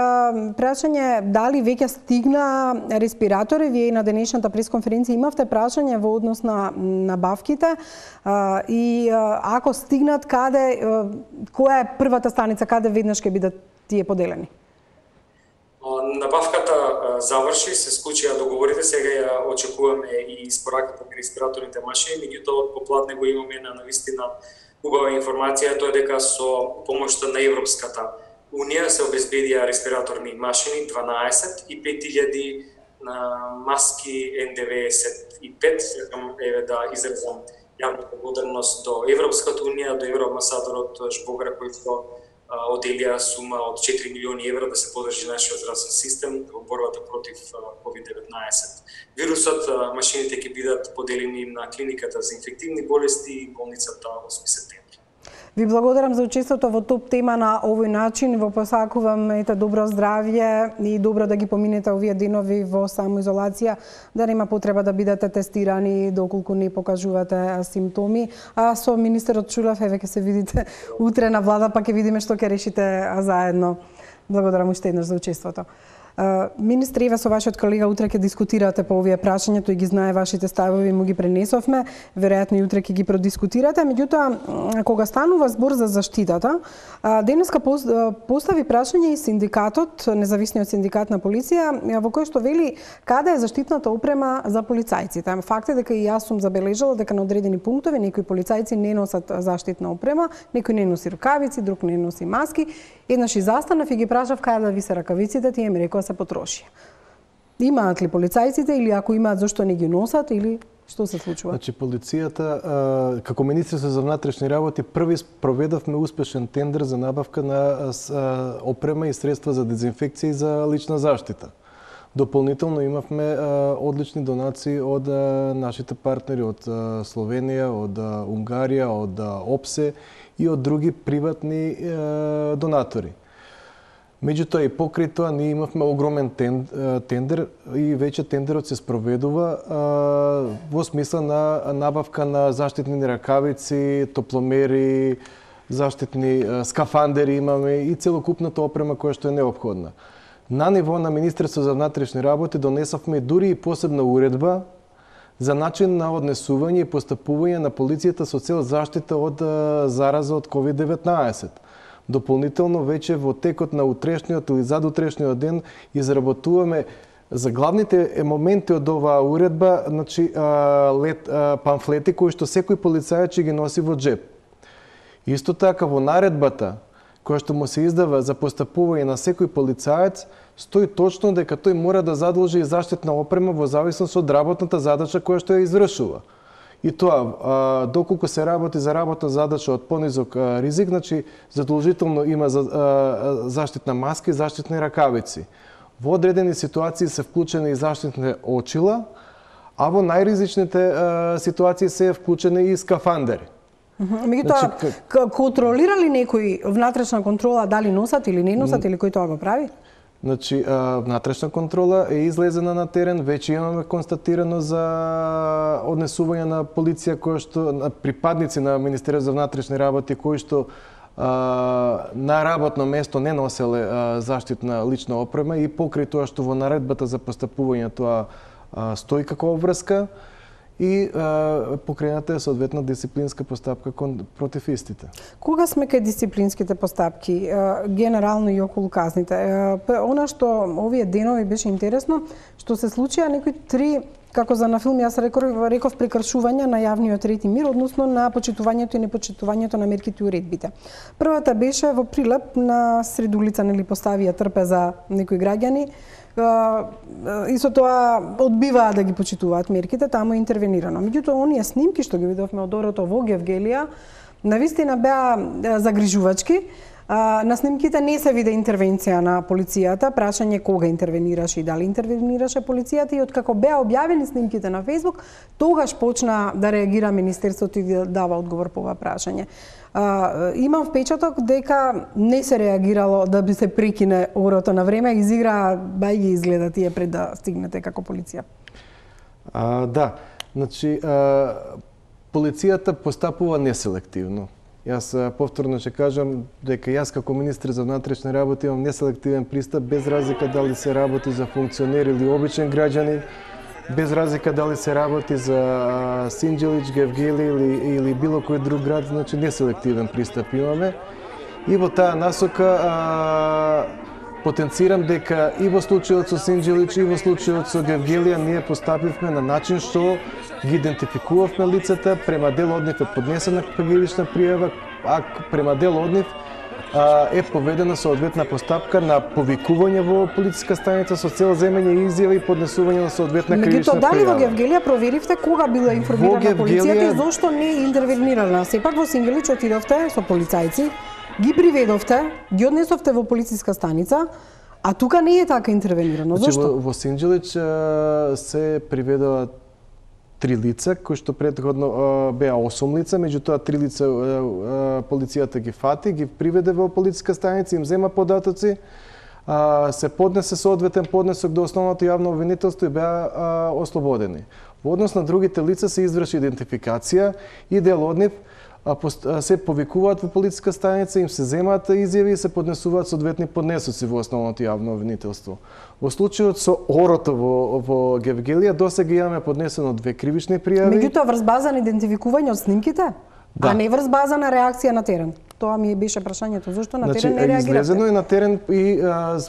прашање дали веќе стигна респиратори? Вие на денешната пресконференција имавте прашање во однос на набавките и ако стигнат, каде, која е првата станица, каде веднаш ќе бидат тие поделени? Набавката заврши, се склучија договорите, сега ја очекуваме и испораката на респираторните машини, меѓутоа од попладне го имаме на навистина убава информација, тоа е дека со помошта на Европската Унија се обезбедија респираторни машини 12 и 5000 маски N95. Сакам да изразам јавна благодарност до Европската Унија, до евроамбасадорот Жбогра кој што оделија сума од 4 милиони евра да се подржи нашиот здравствен систем во борбата против COVID-19 вирусот. Машините ќе бидат поделени на клиниката за инфективни болести и болницата 8 септември. Ви благодарам за учеството во топ тема на овој начин. Во посакувам добро здравје и добро да ги поминете овие денови во самоизолација, да нема потреба да бидете тестирани доколку не покажувате симптоми. А со министерот Чулев, еве ќе се видите утре на влада, па ќе видиме што ќе решите заедно. Благодарам уште еднаш за учеството. Министри, еве со вашиот колега утре ќе дискутирате по овие прашања, тој ги знае вашите ставови, му ги пренесовме, веројатно и утре ќе ги продискутирате. Меѓутоа, кога станува збор за заштитата, денеска постави прашање и синдикатот, независниот синдикат на полиција, во кој што вели каде е заштитната опрема за полицајците. Факт е дека и јас сум забележала дека на одредени пунктови некои полицајци не носат заштитна опрема, некој не носи рукавици, друг не носи маски. Еднаш и застанав и ги прашав каде да ви се ракавиците, тие ми рекоа се потрошија. Имаат ли полицајците или ако имаат зошто не ги носат или Што се случува? Значи, полицијата, како Министерство за внатрешни работи, први проведовме успешен тендер за набавка на опрема и средства за дезинфекција и за лична заштита. Дополнително имавме одлични донации од нашите партнери од Словенија, од Унгарија, од ОПСЕ и од други приватни донатори. Меѓутоа и покрај тоа ние имавме огромен тендер и веќе тендерот се спроведува во смисла на набавка на заштитни ракавици, топломери, заштитни скафандери имаме и целокупната опрема која што е неопходна. На ниво на Министерство за внатрешни работи донесовме дури и посебна уредба за начин на однесување и постапување на полицијата со цел заштита од зараза од COVID-19. Дополнително, веќе во текот на утрешниот или задутрешниот ден изработуваме за главните моменти од оваа уредба, значи памфлети кои што секој полицајец ќе ги носи во джеп. Исто така во наредбата која што му се издава за постапување на секој полицаец, стои точно дека тој мора да задолжи и заштитна опрема во зависност од работната задача која што ја извршува. И тоа, доколку се работи за работна задача од понизок ризик, значи задолжително има заштитна маска и заштитни ракавици. Во одредени ситуации се вклучени и заштитни очила, а во најризичните ситуации се вклучени и скафандери. Меѓутоа, контролира ли некој внатрешна контрола дали носат или не носат или кој тоа го прави? Значи, внатрешна контрола е излезена на терен, веќе имаме констатирано за однесување на полиција кои што припадници на Министерството за внатрешни работи кои што на работно место не носеле заштитна лична опрема и покрај тоа што во наредбата за постапување тоа стои како обврска и покрената е соодветна дисциплинска постапка против истите. Кога сме кај дисциплинските постапки, генерално и околу казните, она што овие денови беше интересно, што се случија некои три, како за на филм, јас реков прекршувања на јавниот ред и мир, односно на почитувањето и непочитувањето на мерките и уредбите. Првата беше во Прилеп на сред улица, нели поставија трпеза некои граѓани, и со тоа одбиваат да ги почитуваат мерките, таму е интервенирано. Меѓутоа, оние снимки што ги видовме од орото во Гевгелија, навистина беа загрижувачки. На снимките не се виде интервенција на полицијата, прашање кога интервенираше и дали интервенираше полицијата и откако беа објавени снимките на Facebook, тогаш почна да реагира Министерството и да дава одговор по ова прашање. Имам впечаток дека не се реагирало да би се прекине орото на време, изигра бајги изгледа тие пред да стигнете како полиција. Да, значи полицијата постапува неселективно. Јас повторно ќе кажам дека јас како министр за внатрешни работи имам неселективен пристап без разлика дали се работи за функционер или обичен граѓанин, без разлика дали се работи за Синџелич, Гевгели или било кој друг град, значи неселективен пристап имаме. И во таа насока потенцирам дека и во случајот со Синџелич и во случајот со Гевгелија ние постапивме на начин што ги идентификувавме лицата, према дел од нив е поднесена кривична пријава, а према дел од нив е поведена соодветна постапка на повикување во полициска станица со цел земење изјави и поднесување на соодветна кривична пријава. Меѓутоа, дали во Гевгелија проверивте кога била информирана полицијата и зошто не е интервенирана? Сепак во Синџелич отидовте со полицајци, ги приведовте, ги однесовте во полициска станица, а тука не е така интервенирано. Зошто? Во Синџелич се приведува 3 лица, кои што претходно беа 8 лица, меѓутоа 3 лица полицијата ги фати, ги приведе во полициска станица, им зема податоци, се поднесе соодветен поднесок до основното јавно обвинителство и беа ослободени. Во однос на другите лица се изврши идентификација и дел од нив се повикуваат во полициска станица, им се земаат изјави и се поднесуваат соодветни поднесоци во основното јавно обвинителство. Во случајот со орото во Гевгелија досега имаме поднесено 2 кривични пријави. Меѓутоа врз база на идентификување од снимките, а не врз база на реакција на терен. Тоа ми беше прашањето, зошто на терен не реагиравте? Излезено е на терен и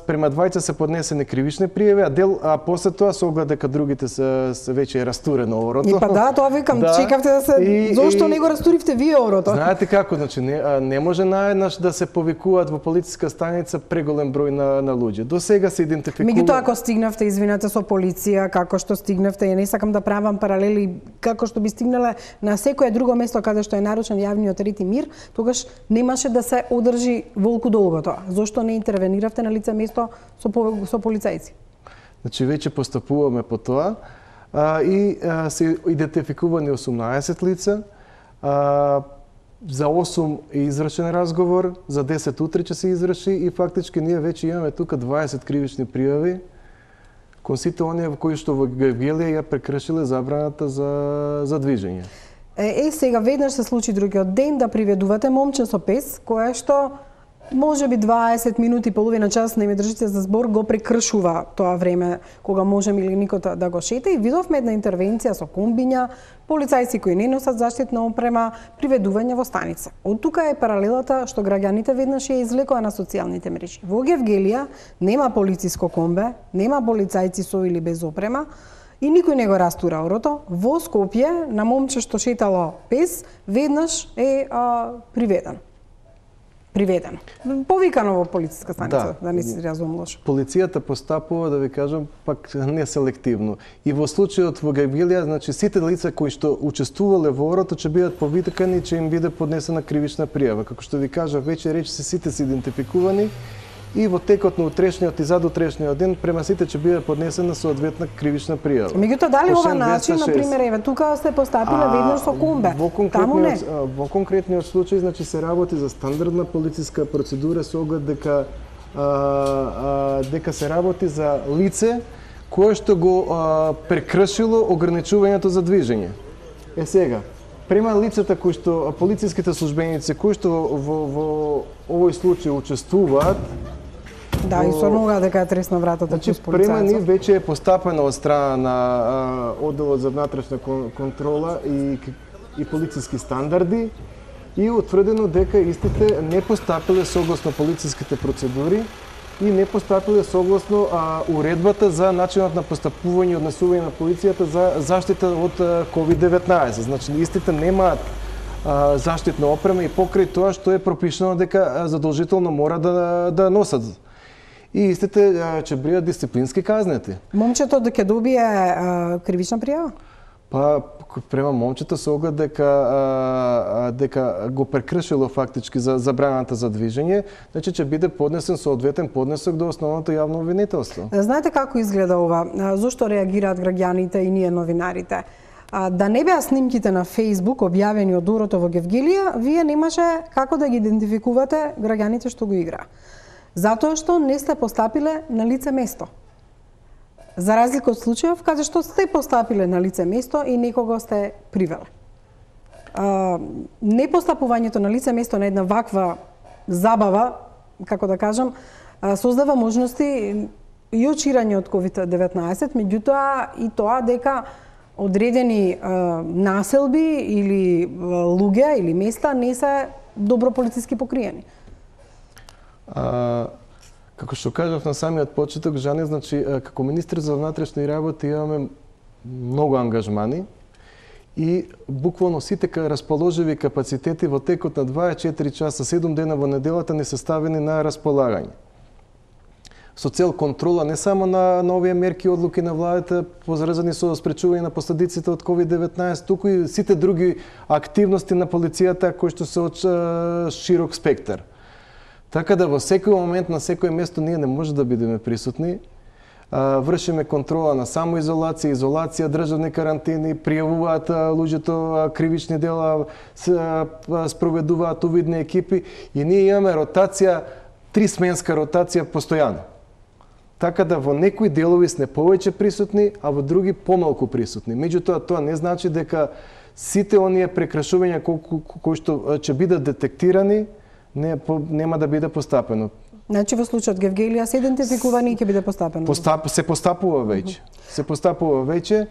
према двајца се поднесени кривични пријави, а после тоа се огледа дека другите се веќе растурено орото. И па да, тоа викам, чекавте да се зошто не го растуривте вие орото? Знаете како, значи не може наеднаш да се повикуваат во полициска станица преголем број на луѓе. До сега се идентификува. Меѓутоа ако стигнавте, извинете, со полиција, како што стигнавте, ја не сакам да правам паралели, како што би стигнале на секое друго место каде што е нарушен јавниот ред и мир, тогаш немаше да се одржи волку долгото. Зошто не интервениравте на лице место со полицајци? Значи веќе постапуваме по тоа и се идентификувани 18 лица. За 8 е извршен разговор, за 10 утре ќе се изврши и фактички ние веќе имаме тука 20 кривични пријави кон сите оние кои што во Гевгелија ја прекршиле забраната за движење. Сега веднаш се случи другиот ден да приведувате момче со пес, кое што може би 20 минути, половина час не ме држите за збор, го прекршува тоа време кога може милиникот да го шета и видовме една интервенција со комбиња, полицајци кои не носат заштитна опрема, приведување во станица. Од тука е паралелата што граѓаните веднаш ја извлекоа на социјалните мрежи. Во Гевгелија нема полициско комбе, нема полицајци со или без опрема, и никој не го растура орото. Во Скопје, на момче што шетало пес, веднаш е приведен. Повикано во полициска станица, да не си разумам лошо. Полицијата постапува, да ви кажам, пак не селективно. И во случајот во Гевгелија, значи сите лица кои што учествувале во орото ќе бидат повикани и ќе им биде поднесена кривична пријава. Како што ви кажав, веќе речиси сите се идентификувани и во текот на утрешниот и задутрешниот ден према сите ќе биде поднесена соодветна кривична пријава. Меѓутоа дали ова начин, на пример, еве тука сте постапиле веднаш со комбе. Во конкретниот случај, значи се работи за стандардна полициска процедура со оглед дека се работи за лице кое што го прекршило ограничувањето за движење. Сега, према лицата кои што полициските службеници кои што во овој случај учествуваат. Да, и со нога дека е тресна вратата. Значи, према ни веќе е постапено од страна на одделот за внатрешна контрола и полициски стандарди и утврдено дека истите не постапиле согласно полициските процедури и не постапиле согласно уредбата за начинот на постапување и однесување на полицијата за заштита од COVID-19. Значи, истите немаат заштитна опрема и покрај тоа што е пропишано дека задолжително мора да носат. И истите ќе бидат дисциплински казнети. Момчето ќе добие кривична пријава? Па према момчето се оглед дека го прекршило фактички за забраната за движење, значи ќе биде поднесен соодветен поднесок до основното јавно обвинителство. Знаете како изгледа ова? Зошто реагираат граѓаните и ние новинарите? Да не беа снимките на Facebook објавени од орото во Гевгелија, вие немаше како да ги идентификувате граѓаните што го играа. Затоа што не сте постапиле на лице место. За разлика од случајов каде што сте постапиле на лице место и некого сте привеле. Непостапувањето на лице место на една ваква забава, како да кажам, создава можности и од ширање од COVID-19, меѓутоа и тоа дека одредени населби или луѓе или места не се добро полициски покриени. Како што кажав на самиот почеток, Жане, значи, како министр за внатрешни работи имаме многу ангажмани и буквално сите расположиви капацитети во текот на 24 часа, 7 дена во неделата не се ставени на располагање. Со цел контрола не само на овие мерки и одлуки на владата поврзани со спречување на последиците од COVID-19, туку и сите други активности на полицијата кои што се од широк спектар. Така да во секој момент, на секој место ние не може да бидеме присутни. Вршиме контрола на самоизолација, изолација, државни карантини, пријавуваат луѓето кривични дела, спроведуваат увидни екипи и ние имаме ротација, 3-сменска ротација постојано. Така да во некои делови сме повеќе присутни, а во други помалку присутни. Меѓутоа, тоа не значи дека сите оние прекрашувања кои што ќе бидат детектирани, нема да биде постапено. Значи во случајот Гевгелија се идентификувани и ќе биде постапено? Се постапува веќе. Се постапува веќе.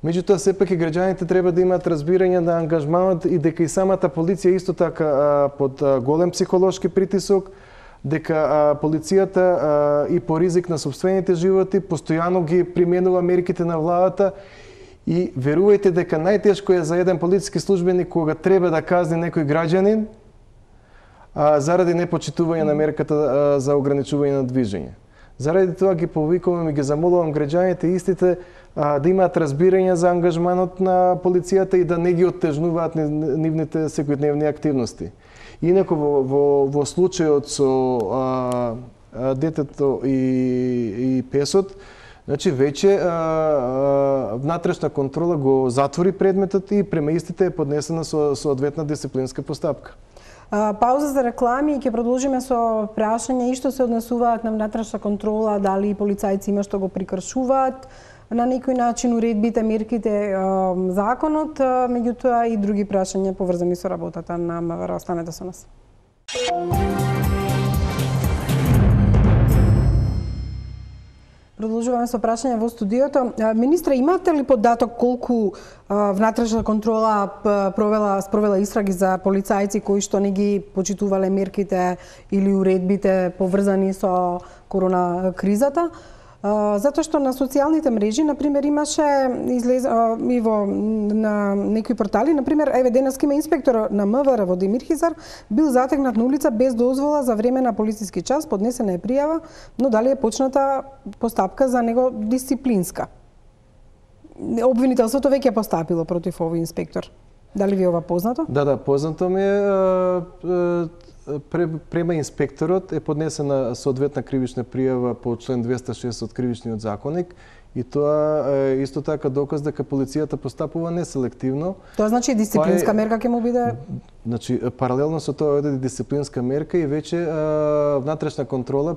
Меѓутоа, сепак и граѓаните треба да имаат разбирање на ангажманот и дека и самата полиција исто така под голем психолошки притисок, дека полицијата и по ризик на собствените животи постојано ги применува мерките на владата и верувајте дека најтешко е за еден полициски службеник кога треба да казни некој граѓанин заради непочитување на мерката за ограничување на движење. Заради тоа ги повикувам и ги замолувам граѓаните истите да имаат разбирање за ангажманот на полицијата и да не ги оттежнуваат нивните секојдневни активности. Инаку во случајот со детето и песот, значи веќе внатрешна контрола го затвори предметот и према истите е поднесена соодветна дисциплинска постапка. Пауза за реклами и ќе продолжиме со прашање и што се однесуваат на внатрешна контрола, дали полицајци има што го прикршуваат на некој начин уредбите, мерките, законот, меѓутоа и други прашања поврзани со работата на МВР. Останете со нас. Продолжуваме со прашање во студиото. Министре, имате ли податок колку внатрешна контрола спровела истраги за полицајци кои што не ги почитувале мерките или уредбите поврзани со корона кризата? Затоа што на социјалните мрежи, например, имаше и на некои портали, например, еве денеска има инспектор на МВР во Демир Хизар бил затегнат на улица без дозвола за време на полициски час, поднесена е пријава, но дали е почната постапка за него дисциплинска? Обвинителството веќе е постапило против овој инспектор. Дали ви е ова познато? Да, познато ми е. Према инспекторот е поднесена соодветна кривична пријава по член 206 од Кривичниот законник и тоа е исто така доказ дека полицијата постапува неселективно. Тоа значи дисциплинска мерка ќе му биде? Значи паралелно со тоа е дисциплинска мерка и веќе внатрешна контрола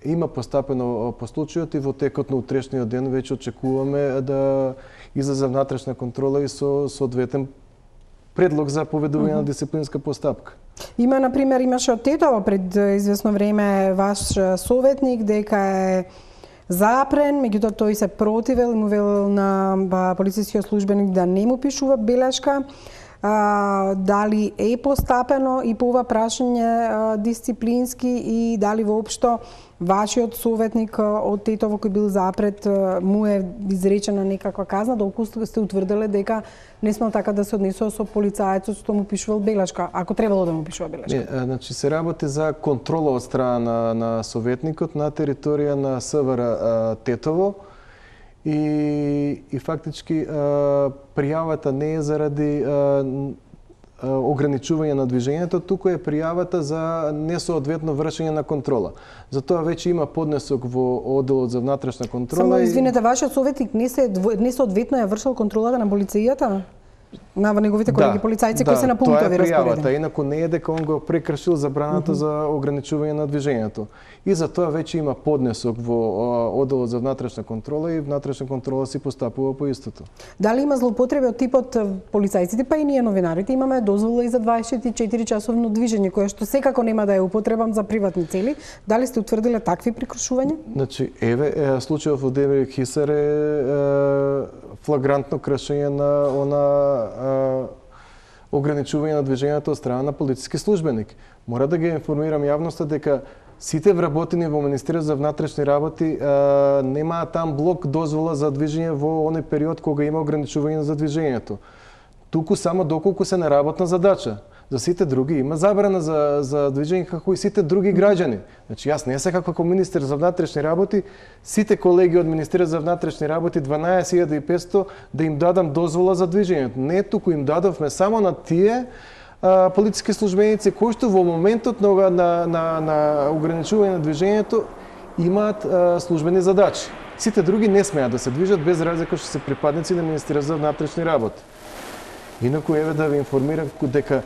има постапено по случајот и во текот на утрешниот ден веќе очекуваме да излезе внатрешна контрола и со соодветен предлог за поведување на дисциплинска постапка. Има, например, имаше од Тетово пред известно време ваш советник дека е запрен, меѓутоа тој се противел и му велел на полицискиот службеник да не му пишува белешка. Дали е постапено и по ова прашање дисциплински и дали воопшто вашиот советник од Тетово кој бил запрет му е изречена некаква казна, доколку сте утврдиле дека не смел така да се однесува со полицајецот што му пишувал белешка, ако требало да му пишува белешка? Не, значи се работи за контрола од страна на советникот на територија на СВР Тетово и фактички пријавата не е заради ограничување на движењето, туку е пријавата за несоодветно вршење на контрола. Затоа веќе има поднесок во одделот за внатрешна контрола. Само извинете, вашиот советник несоодветно ја вршил контролата на полицијата? На неговите колеги полицајци кои се на пунктови распоредени. Тоа е пријавата, инаку не е дека он го прекршил забраната за ограничување на движењето. И за тоа веќе има поднесок во одделот за внатрешна контрола и внатрешна контрола си постапува по истото. Дали има злоупотреби од типот полицајците, па и ние новинарите имаме дозвола и за 24 часовно движење, кое што секако нема да е употребам за приватни цели. Дали сте утврдиле такви прекршувања? Значи, случајот во Демир Хизар е флагрантно кршење на ограничување на движењето од страна на полициски службеник. Мора да ги информирам јавноста дека сите вработени во Министерството за внатрешни работи немаат там блок дозвола за движење во оној период кога има ограничување за движењето. Туку само доколку се на работна задача. За сите други има забрана за движење како и сите други граѓани. Значи јас не се како министер за внатрешни работи, сите колеги од Министерството за внатрешни работи 12.500 да им дадам дозвола за движењето. Не, туку им дадовме само на тие полициски службеници кои што во моментот на ограничување на движењето имаат службени задачи. Сите други не смеат да се движат без разлика што се припадници на Министерството за внатрешни работи. Инаку еве да ви информирам дека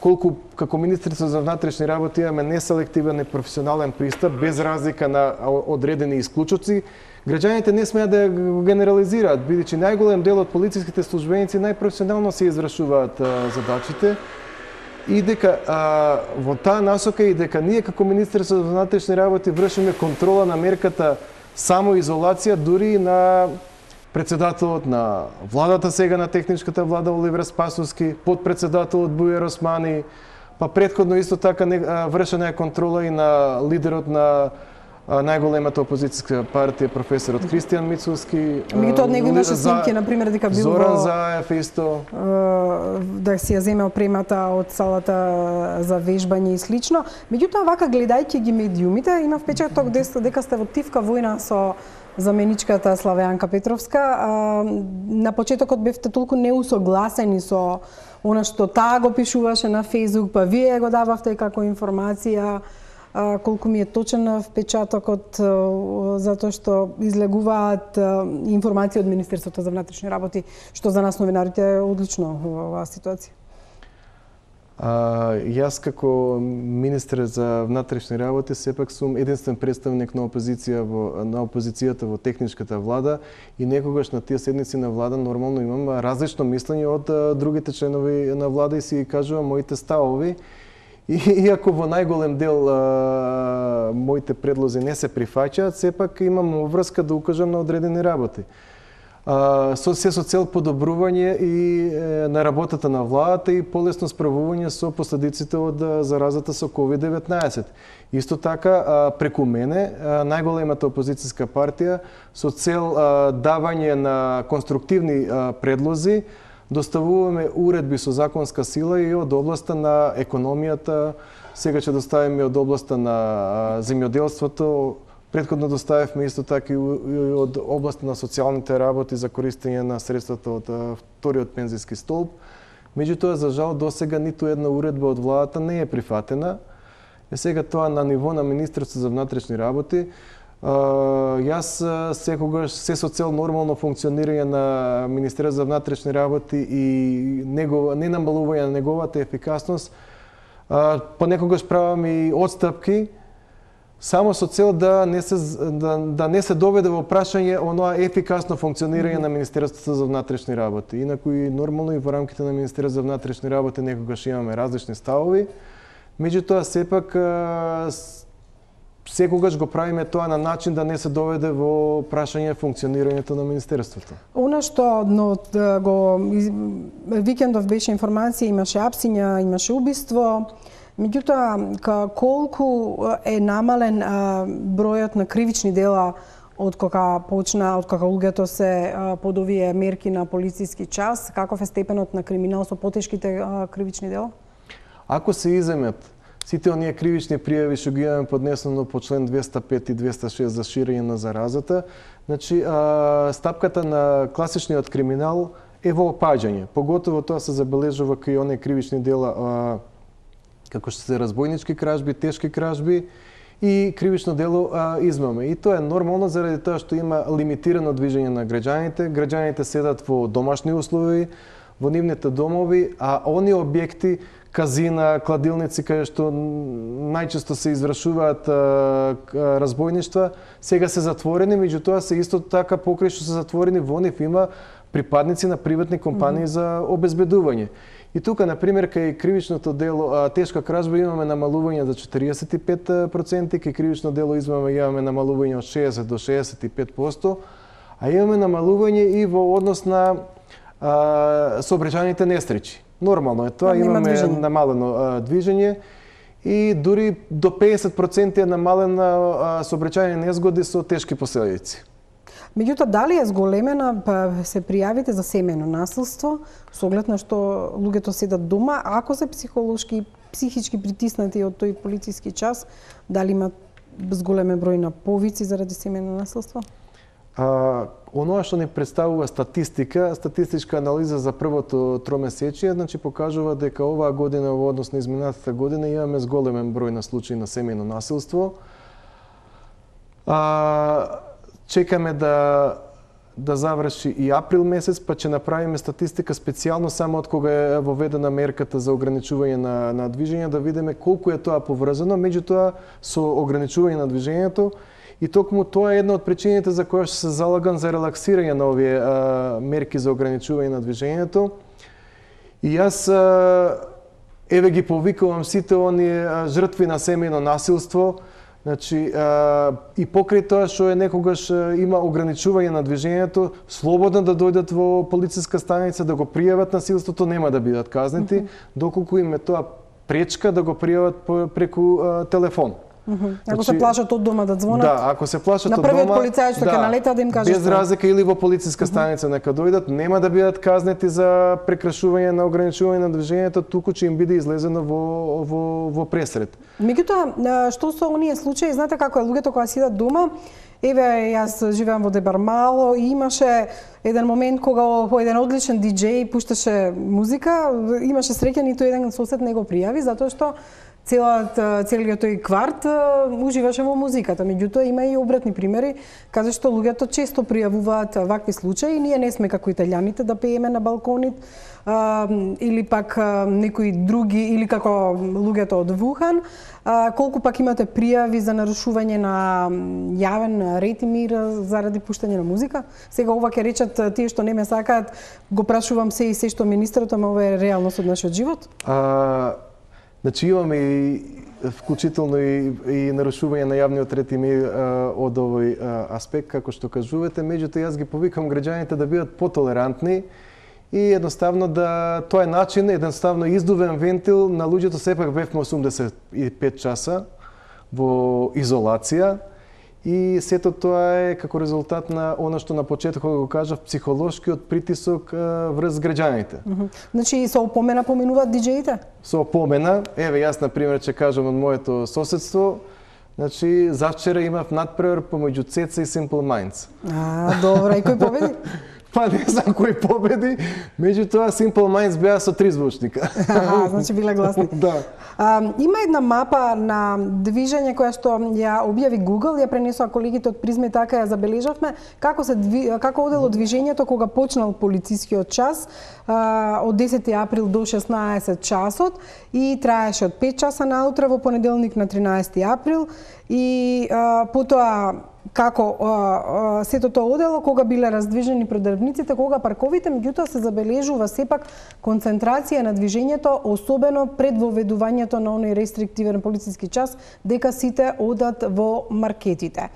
колку како Министерство за внатрешни работи имаме неселективен и професионален пристап без разлика на одредени исклучоци, граѓаните не смеат да го генерализираат, бидејќи најголем дел од полициските службеници најпрофесионално се извршуваат задачите и дека во таа насока и дека ние како Министерство за внатрешни работи вршиме контрола на мерката самоизолација дури на председателот на владата сега на техничката влада Оливер Спасовски, подпредседателот Бујар Османи, па претходно исто така вршена е контрола и на лидерот на најголемата опозицијска партија професорот Христијан Мицовски. Меѓутоа од него имаше снимки, например, дека бил Зоран Заев исто. Да си ја земе опремата од салата за вежбање и слично. Меѓутоа, вака гледајќи ги медиумите, има впечаток дека сте во тивка војна со заменичката Славеанка Петровска. На почетокот бевте толку неусогласени со она што таа го пишуваше на Фејсбук, па вие го дававте како информација. Колку ми е точен впечатокот, затоа што излегуваат информации од Министерството за внатрешни работи, што за нас новинарите е одлично во оваа ситуација. Јас како министер за внатрешни работи сепак сум единствен представник на опозицијата во техничката влада и некогаш на тие седници на влада нормално имам различно мислење од другите членови на влада и си кажувам моите ставови. Иако во најголем дел моите предлози не се прифаќаат, сепак имам врска да укажам на одредени работи. Со цел подобрување и на работата на владата и полесно справување со последиците од заразата со COVID-19. Исто така, преку мене, најголемата опозицијска партија, со цел давање на конструктивни предлози, доставуваме уредби со законска сила и од областа на економијата, сега ќе доставиме од областа на земјоделството, претходно доставивме исто така и од областа на социјалните работи за користење на средствата од вториот пензијски столб. Меѓутоа, за жал, досега ниту една уредба од владата не е прифатена. Сега тоа на ниво на Министерството за внатрешни работи. Јас секогаш се со цел нормално функционирање на Министерството за внатрешни работи и не намалување на неговата ефикасност, понекогаш правам и отстапки само со цел да не се доведе во прашање оноа ефикасно функционирање на Министерството за внатрешни работи. Инаку и нормално и во рамките на Министерството за внатрешни работи некогаш имаме различни ставови, меѓутоа сепак секогаш го правиме тоа на начин да не се доведе во прашање функционирањето на Министерството. Она што викендов беше информација, имаше апсиња, имаше убиство, меѓутоа колку е намален бројот на кривични дела од кога луѓето се под овие мерки на полициски час, каков е степенот на криминал со потешките кривични дела? Ако се иземат сите оние кривични пријави што ги имаме поднесено по член 205 и 206 за ширење на заразата, значи стапката на класичниот криминал е во опаѓање. Поготово тоа се забележува кај оние кривични дела како што се разбойнички кражби, тешки кражби и кривично дело измама. И тоа е нормално заради тоа што има лимитирано движење на граѓаните. Граѓаните седат во домашни услови, во нивните домови, а оние објекти, казина, кладилници, кај што најчесто се извршуваат разбойништва, сега се затворени, меѓутоа се исто така покрај што се затворени во нив има припадници на приватни компании за обезбедување. И тука, например, кај кривичното дело тешка кражба имаме намалување за 45%, кај кривично дело измама имаме намалување од 60 до 65%, а имаме намалување и во однос на сообраќајните несреќи. Нормално е тоа, имаме намалено движење и дури до 50% е намалена сообраќајни незгоди со тешки последици. Меѓутоа, дали е зголемена се пријавите за семејно насилство, со оглед на што луѓето седат дома, ако се психолошки, психички притиснати од тој полициски час, дали има зголемен број на повици заради семејно насилство? Оноа што ни представува статистичка анализа за првото тромесечие, значи покажува дека оваа година во однос на изминатата година имаме зголемен број на случаи на семејно насилство. Чекаме да заврши и април месец, па ќе направиме статистика специјално само од кога е воведена мерката за ограничување на движење, да видиме колку е тоа поврзано, меѓутоа со ограничување на движењето. И токму тоа е една од причините за која што се залагам за релаксирање на овие мерки за ограничување на движењето. И јас еве ги повикувам сите оние жртви на семејно насилство Значи, и покрај тоа што е некогаш има ограничување на движењето, слободно да дојдат во полициска станица, да го пријават насилството, нема да бидат казнети, доколку им е тоа пречка да го пријават преку телефон. Ако се плашат од дома да звонат. Да, ако се плашат од дома. На првиот полицај што ќе налета да им каже. Без разлика или во полициска станица нека дојдат, нема да бидат казнети за прекршување на ограничување на движењето, туку ќе им биде излезено во пресред. Меѓутоа, што со оние случаи, знаете како е луѓето кога сидат дома, еве јас живеам во Дебармало и имаше еден момент кога еден одличен диџеј пушташе музика, имаше среќа ниту еден сосед не го пријави затоа што целиот тој кварт уживаше во музиката. Меѓутоа има и обратни примери, каде што луѓето често пријавуваат вакви случаи. Ние не сме како италијаните да пееме на балконит, или пак некои други, или како луѓето од Вухан. Колку пак имате пријави за нарушување на јавен ред и мир заради пуштање на музика? Сега ова ќе речат тие што не ме сакаат, го прашувам се и се што министерот, ама ова е реалност од нашиот живот? Значи имаме и вклучително и нарушување на јавниот ред и мир од овој аспект, како што кажувате. Меѓутоа, јас ги повикам граѓаните да бидат потолерантни и едноставно да тоа е начин, едноставно издувен вентил на луѓето. Сепак бевме 85 часа во изолација и сето тоа е како резултат на она што на почетокот го кажав, психолошкиот притисок врз граѓаните. Значи со опомена поминуваат диџеите? Со опомена, еве јас на пример ќе кажам од моето соседство, значи завчера имав надпревар помеѓу Цеца и Simple Minds. Добро, и кој победи? Па не знам кој победи, меѓутоа Simple Minds беа со 3 звучника. Значи биле гласни. Да. Има една мапа на движење која што ја објави Google, ја пренесоа колегите од Призма и така ја забележавме, како одело движењето кога почнал полицискиот час од 10 април до 16 часот и траеше од 5 часа наутре во понеделник на 13 април и потоа како сето тоа одело, кога биле раздвижени продавниците, кога парковите, меѓутоа се забележува сепак концентрација на движењето, особено пред воведувањето на оној рестриктивен полициски час, дека сите одат во маркетите.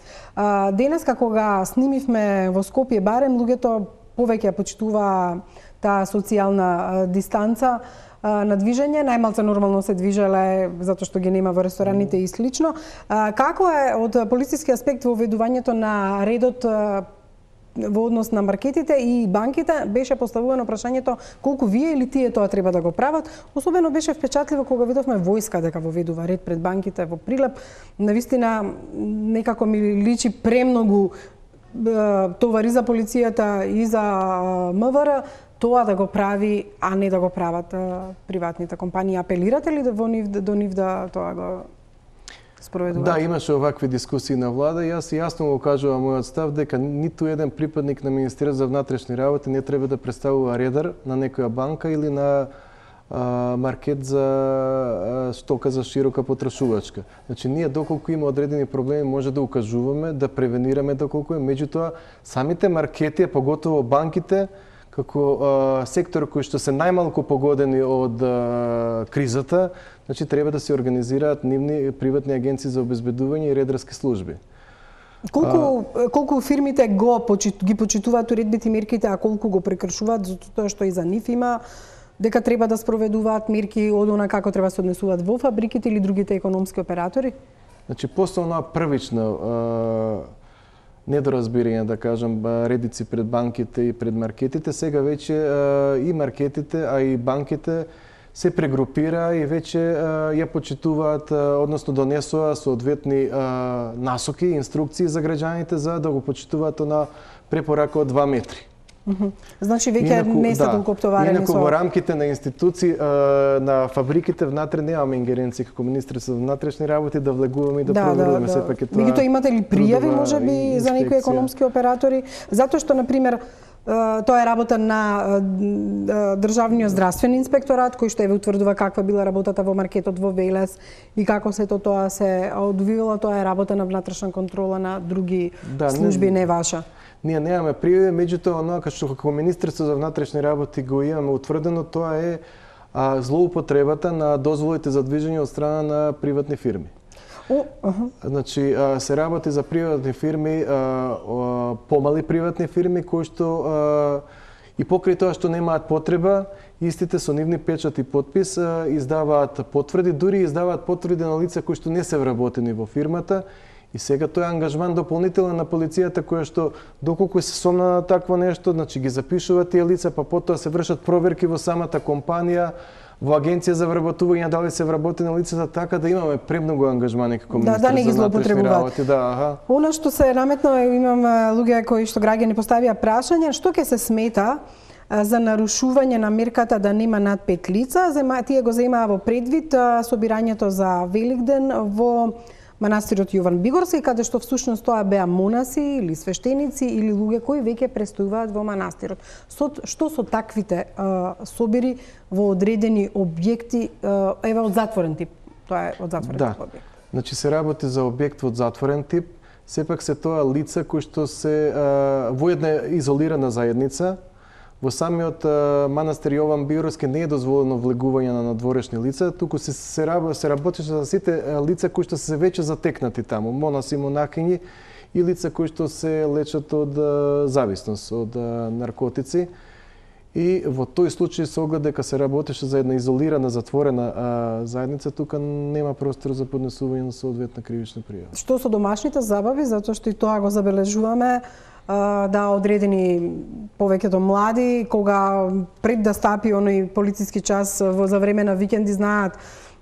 Денеска кога снимивме во Скопје барем, луѓето повеќе почитуваа таа социјална дистанца на движење, најмалце нормално се движеле затоа што ги нема во рестораните и слично. Како е од полициски аспект воведувањето на редот во однос на маркетите и банките? Беше поставувано прашањето колку вие или тие тоа треба да го прават. Особено беше впечатливо кога видовме војска дека воведува ред пред банките во Прилеп. Навистина некако ми личи премногу товари за полицијата и за МВР тоа да го прави, а не да го прават приватните компании. Апелирате ли до нив да тоа го спроведуваат? Да, имаше овакви дискусии на влада. Јас јасно го кажувам мојот став дека ниту еден припадник на Министерството за внатрешни работи не треба да представува редар на некоја банка или на маркет за стока за широка потрошувачка. Значи, ние доколку има одредени проблеми може да укажуваме, да превенираме доколку е. Меѓутоа, самите маркети, поготово банките, како сектор кој што се најмалку погодени од кризата, значи треба да се организираат нивни приватни агенции за обезбедување и редарски служби. Колку фирмите ги почитуваат уредбите и мерките, а колку го прекршуваат, затоа што и за нив има дека треба да спроведуваат мерки од она како треба се однесуваат во фабриките или другите економски оператори? Значи, после онаа првична недоразбирање, да кажам, редици пред банките и пред маркетите, сега веќе и маркетите, а и банките се прегрупира и веќе ја почитуваат, односно донесоа соодветни насоки, инструкции за граѓаните за да го почитуваат на препорака од 2 метри. Значи веќе не се толку оптоварени со... Инаку во рамките на институции, на фабриките внатре немаме ингеренција како Министерство за внатрешни работи да влегуваме и да проверуваме сепак е тоа. Меѓутоа имате ли пријави можеби за некои економски оператори? Затоа што на пример тоа е работа на Државниот здравствен инспекторат кој што еве утврдува каква била работата во маркетот во Велес и како сето тоа се одвивало, тоа е работа на внатрешна контрола на други служби, не ваша. Ние немаме пријави, меѓутоа оноа што како Министерство за внатрешни работи го имаме утврдено, тоа е злоупотребата на дозволите за движење од страна на приватни фирми. Значи, се работи за приватни фирми, помали приватни фирми кои што и покрај тоа што немаат потреба, истите со нивни печат и подпис издаваат потврди, дури издаваат потврди на лица кои што не се вработени во фирмата. И сега тој ангажман дополнителен на полицијата која што доколку се сомна на такво нешто, значи ги запишуваат тие лица, па потоа се вршат проверки во самата компанија, во агенција за вработување дали се вработени лицата, така да имаме премногу ангажмани како министер не ги за внатрешни работи. Она што се наметно, имам луѓе кои што граѓани поставија прашање, што ќе се смета за нарушување на мерката да нема над 5 лица, тие го земаа во предвид собирањето за Великден во манастирот Јован Бигорски, каде што всушност тоа беа монаси или свештеници или луѓе кои веќе престојуваат во манастирот. Што со таквите собири во одредени објекти, од затворен тип? Тоа е од затворен тип објект. Значи се работи за објект од затворен тип, сепак се тоа лица кои што се во една изолирана заедница. Во самиот манастир Јован Бигорски не е дозволено влегување на надворешни лица, туку се работеше за сите лица кои што се веќе затекнати таму, монаси, монахињи и лица кои што се лечат од зависност, од наркотици. И во тој случај се огледа дека се работеше за една изолирана, затворена заедница, тука нема простор за поднесување на соодветна кривична пријава. Што со домашните забави, затоа што и тоа го забележуваме, да одредени повеќето млади, кога пред да стапи оној полициски час за време на викенди, знаат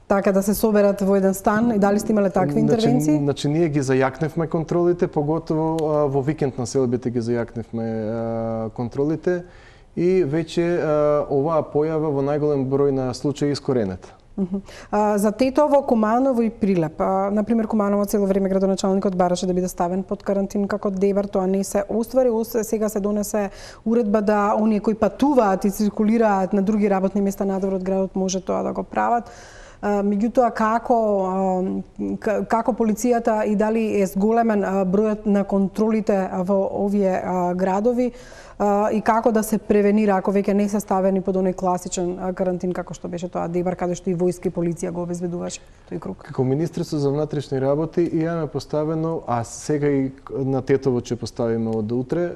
така да се соберат во еден стан, и дали сте имале такви интервенции? Значи ние ги зајакневме контролите, поготово во викенд на селбите ги зајакневме контролите и веќе оваа појава во најголем број на случаи искоренета. За Тетово, Куманово и Прилеп. Например, Куманово цело време градоначалникот бараше да биде ставен под карантин како Дебар, тоа не се оствари. Сега се донесе уредба да оние кои патуваат и циркулираат на други работни места надвор од градот може тоа да го прават. Меѓутоа, како полицијата и дали е зголемен бројот на контролите во овие градови и како да се превенира ако веќе не се ставени под оној класичен карантин како што беше тоа Дебар, каде што и војска и полиција го обезбедуваше тој круг? Како Министерство за внатрешни работи имаме поставено, а сега и на Тетово ќе поставиме од утре,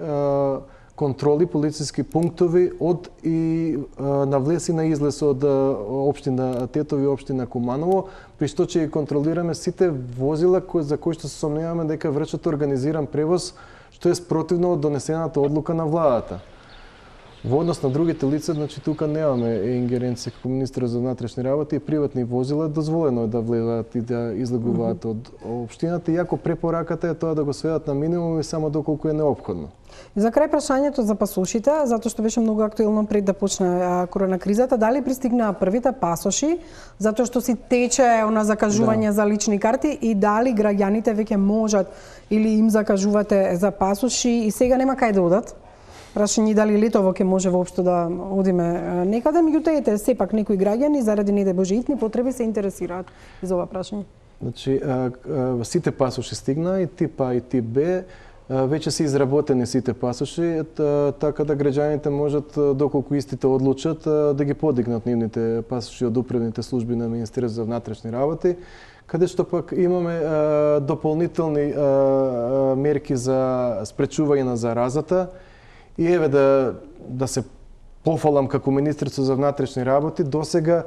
контроли, полициски пунктови од и на влез и на излез од општина Тетово и општина Куманово, при што ќе контролираме сите возила за кои што се сомневаме дека вршат организиран превоз, што е спротивно од донесената одлука на владата. Во однос на другите лица, значи тука немаме ингеренција како министер за внатрешни работи и приватни возила, дозволено е да влезаат и да излегуваат од општината, иако препораката е тоа да го сведат на минимум и само доколку е неопходно. И за крај прашањето за пасошите, затоа што беше многу актуелно пред да почне корона кризата, дали пристигнаа првите пасоши, затоа што си тече она закажување за лични карти и дали граѓаните веќе можат или им закажувате за пасоши и сега нема кај да одат? Прашање дали летово ќе може воопшто да одиме некаде, меѓутоа ете сепак некои граѓани заради не да божитни потреби се интересираат за ова прашање. Значи сите пасоши стигнаа и тип А и тип Б, веќе се изработени сите пасоши, така да граѓаните можат доколку истите одлучат да ги подигнат нивните пасоши од управните служби на Министерството за внатрешни работи, каде што пак имаме дополнителни мерки за спречување на заразата. И еве да се пофалам како Министерство за внатрешни работи, досега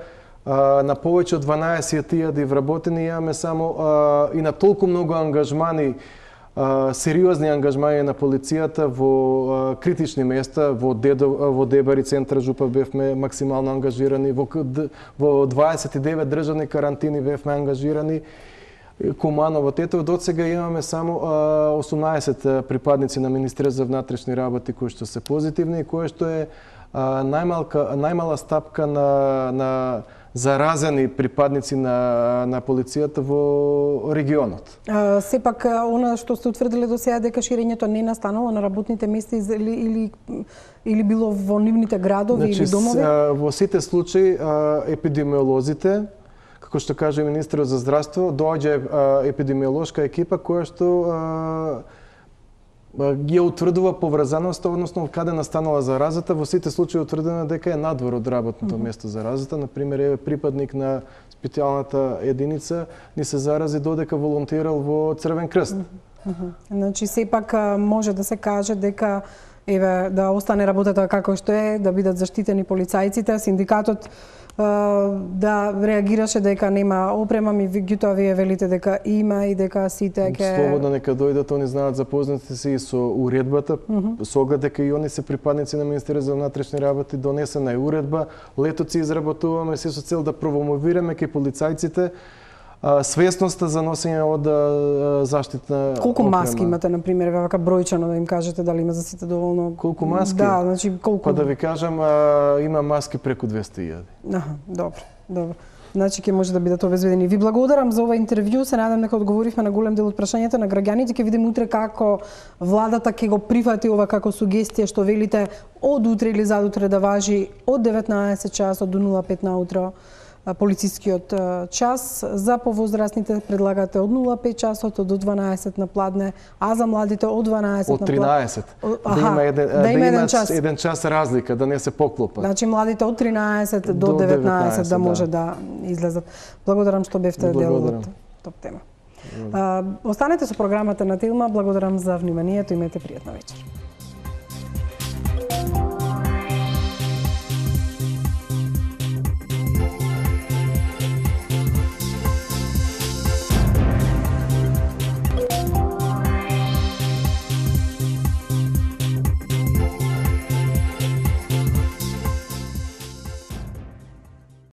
на повеќе од 12.000 вработени имаме само и на толку многу ангажмани, сериозни ангажмани на полицијата во критични места, во Дебар и Центар Жупа бевме максимално ангажирани, во 29 државни карантини бевме ангажирани, Куманово, Тетово, до сега имаме само 18 припадници на Министерството за внатрешни работи кои што се позитивни и кои што е најмала стапка на заразени припадници на полицијата во регионот. Сепак, она што сте утврдили до сега дека ширењето не настанало на работните места или било во нивните градови или домови? Во сите случаи епидемиолозите, како што каже министерот за здравство, доаѓа епидемиолошка екипа која што ги утврдува поврзаноста, односно каде настанала заразата, во сите случаи утврдено дека е надвор од работното место заразата. Например, е припадник на специјалната единица ни се зарази додека волонтерал во Црвен крст. Значи сепак може да се каже дека еве да остане работата како што е, да бидат заштитени полицајците, синдикатот да реагираше дека нема опрема, меѓутоа вие велите дека има и дека сите ќе слободно нека дојдат, они знаат, запознати се и со уредбата, со оглед дека и они се припадници на Министерството за внатрешни работи, донесена е уредба, летот се изработуваме се со цел да промовираме кај полицајците свесноста за носење од заштитна Колку опрема. маски имате, например, вака бројчано да им кажете дали има за сите доволно? Колку маски? Да, значи колку? Па да ви кажам, има маски преку 200.000. Добро. Значи ќе може да бидат обезбедени. Ви благодарам за ова интервју, се надам дека одговоривме на голем дел од прашањата на граѓаните. Ќе видиме утре како владата ќе го прифати ова како сугестија што велите од утре или задутре да важи од 19 часот до 05 наутро полицискиот час. За повозрастните предлагате од 05 часот до 12 на пладне, а за младите од 12 од 13. Да има еден час разлика, да не се поклопат. Значи младите од 13 до 19 да може да излезат. Благодарам што бевте дел од топ тема. Останете со програмата на Телма. Благодарам за вниманието, имете пријатна вечер.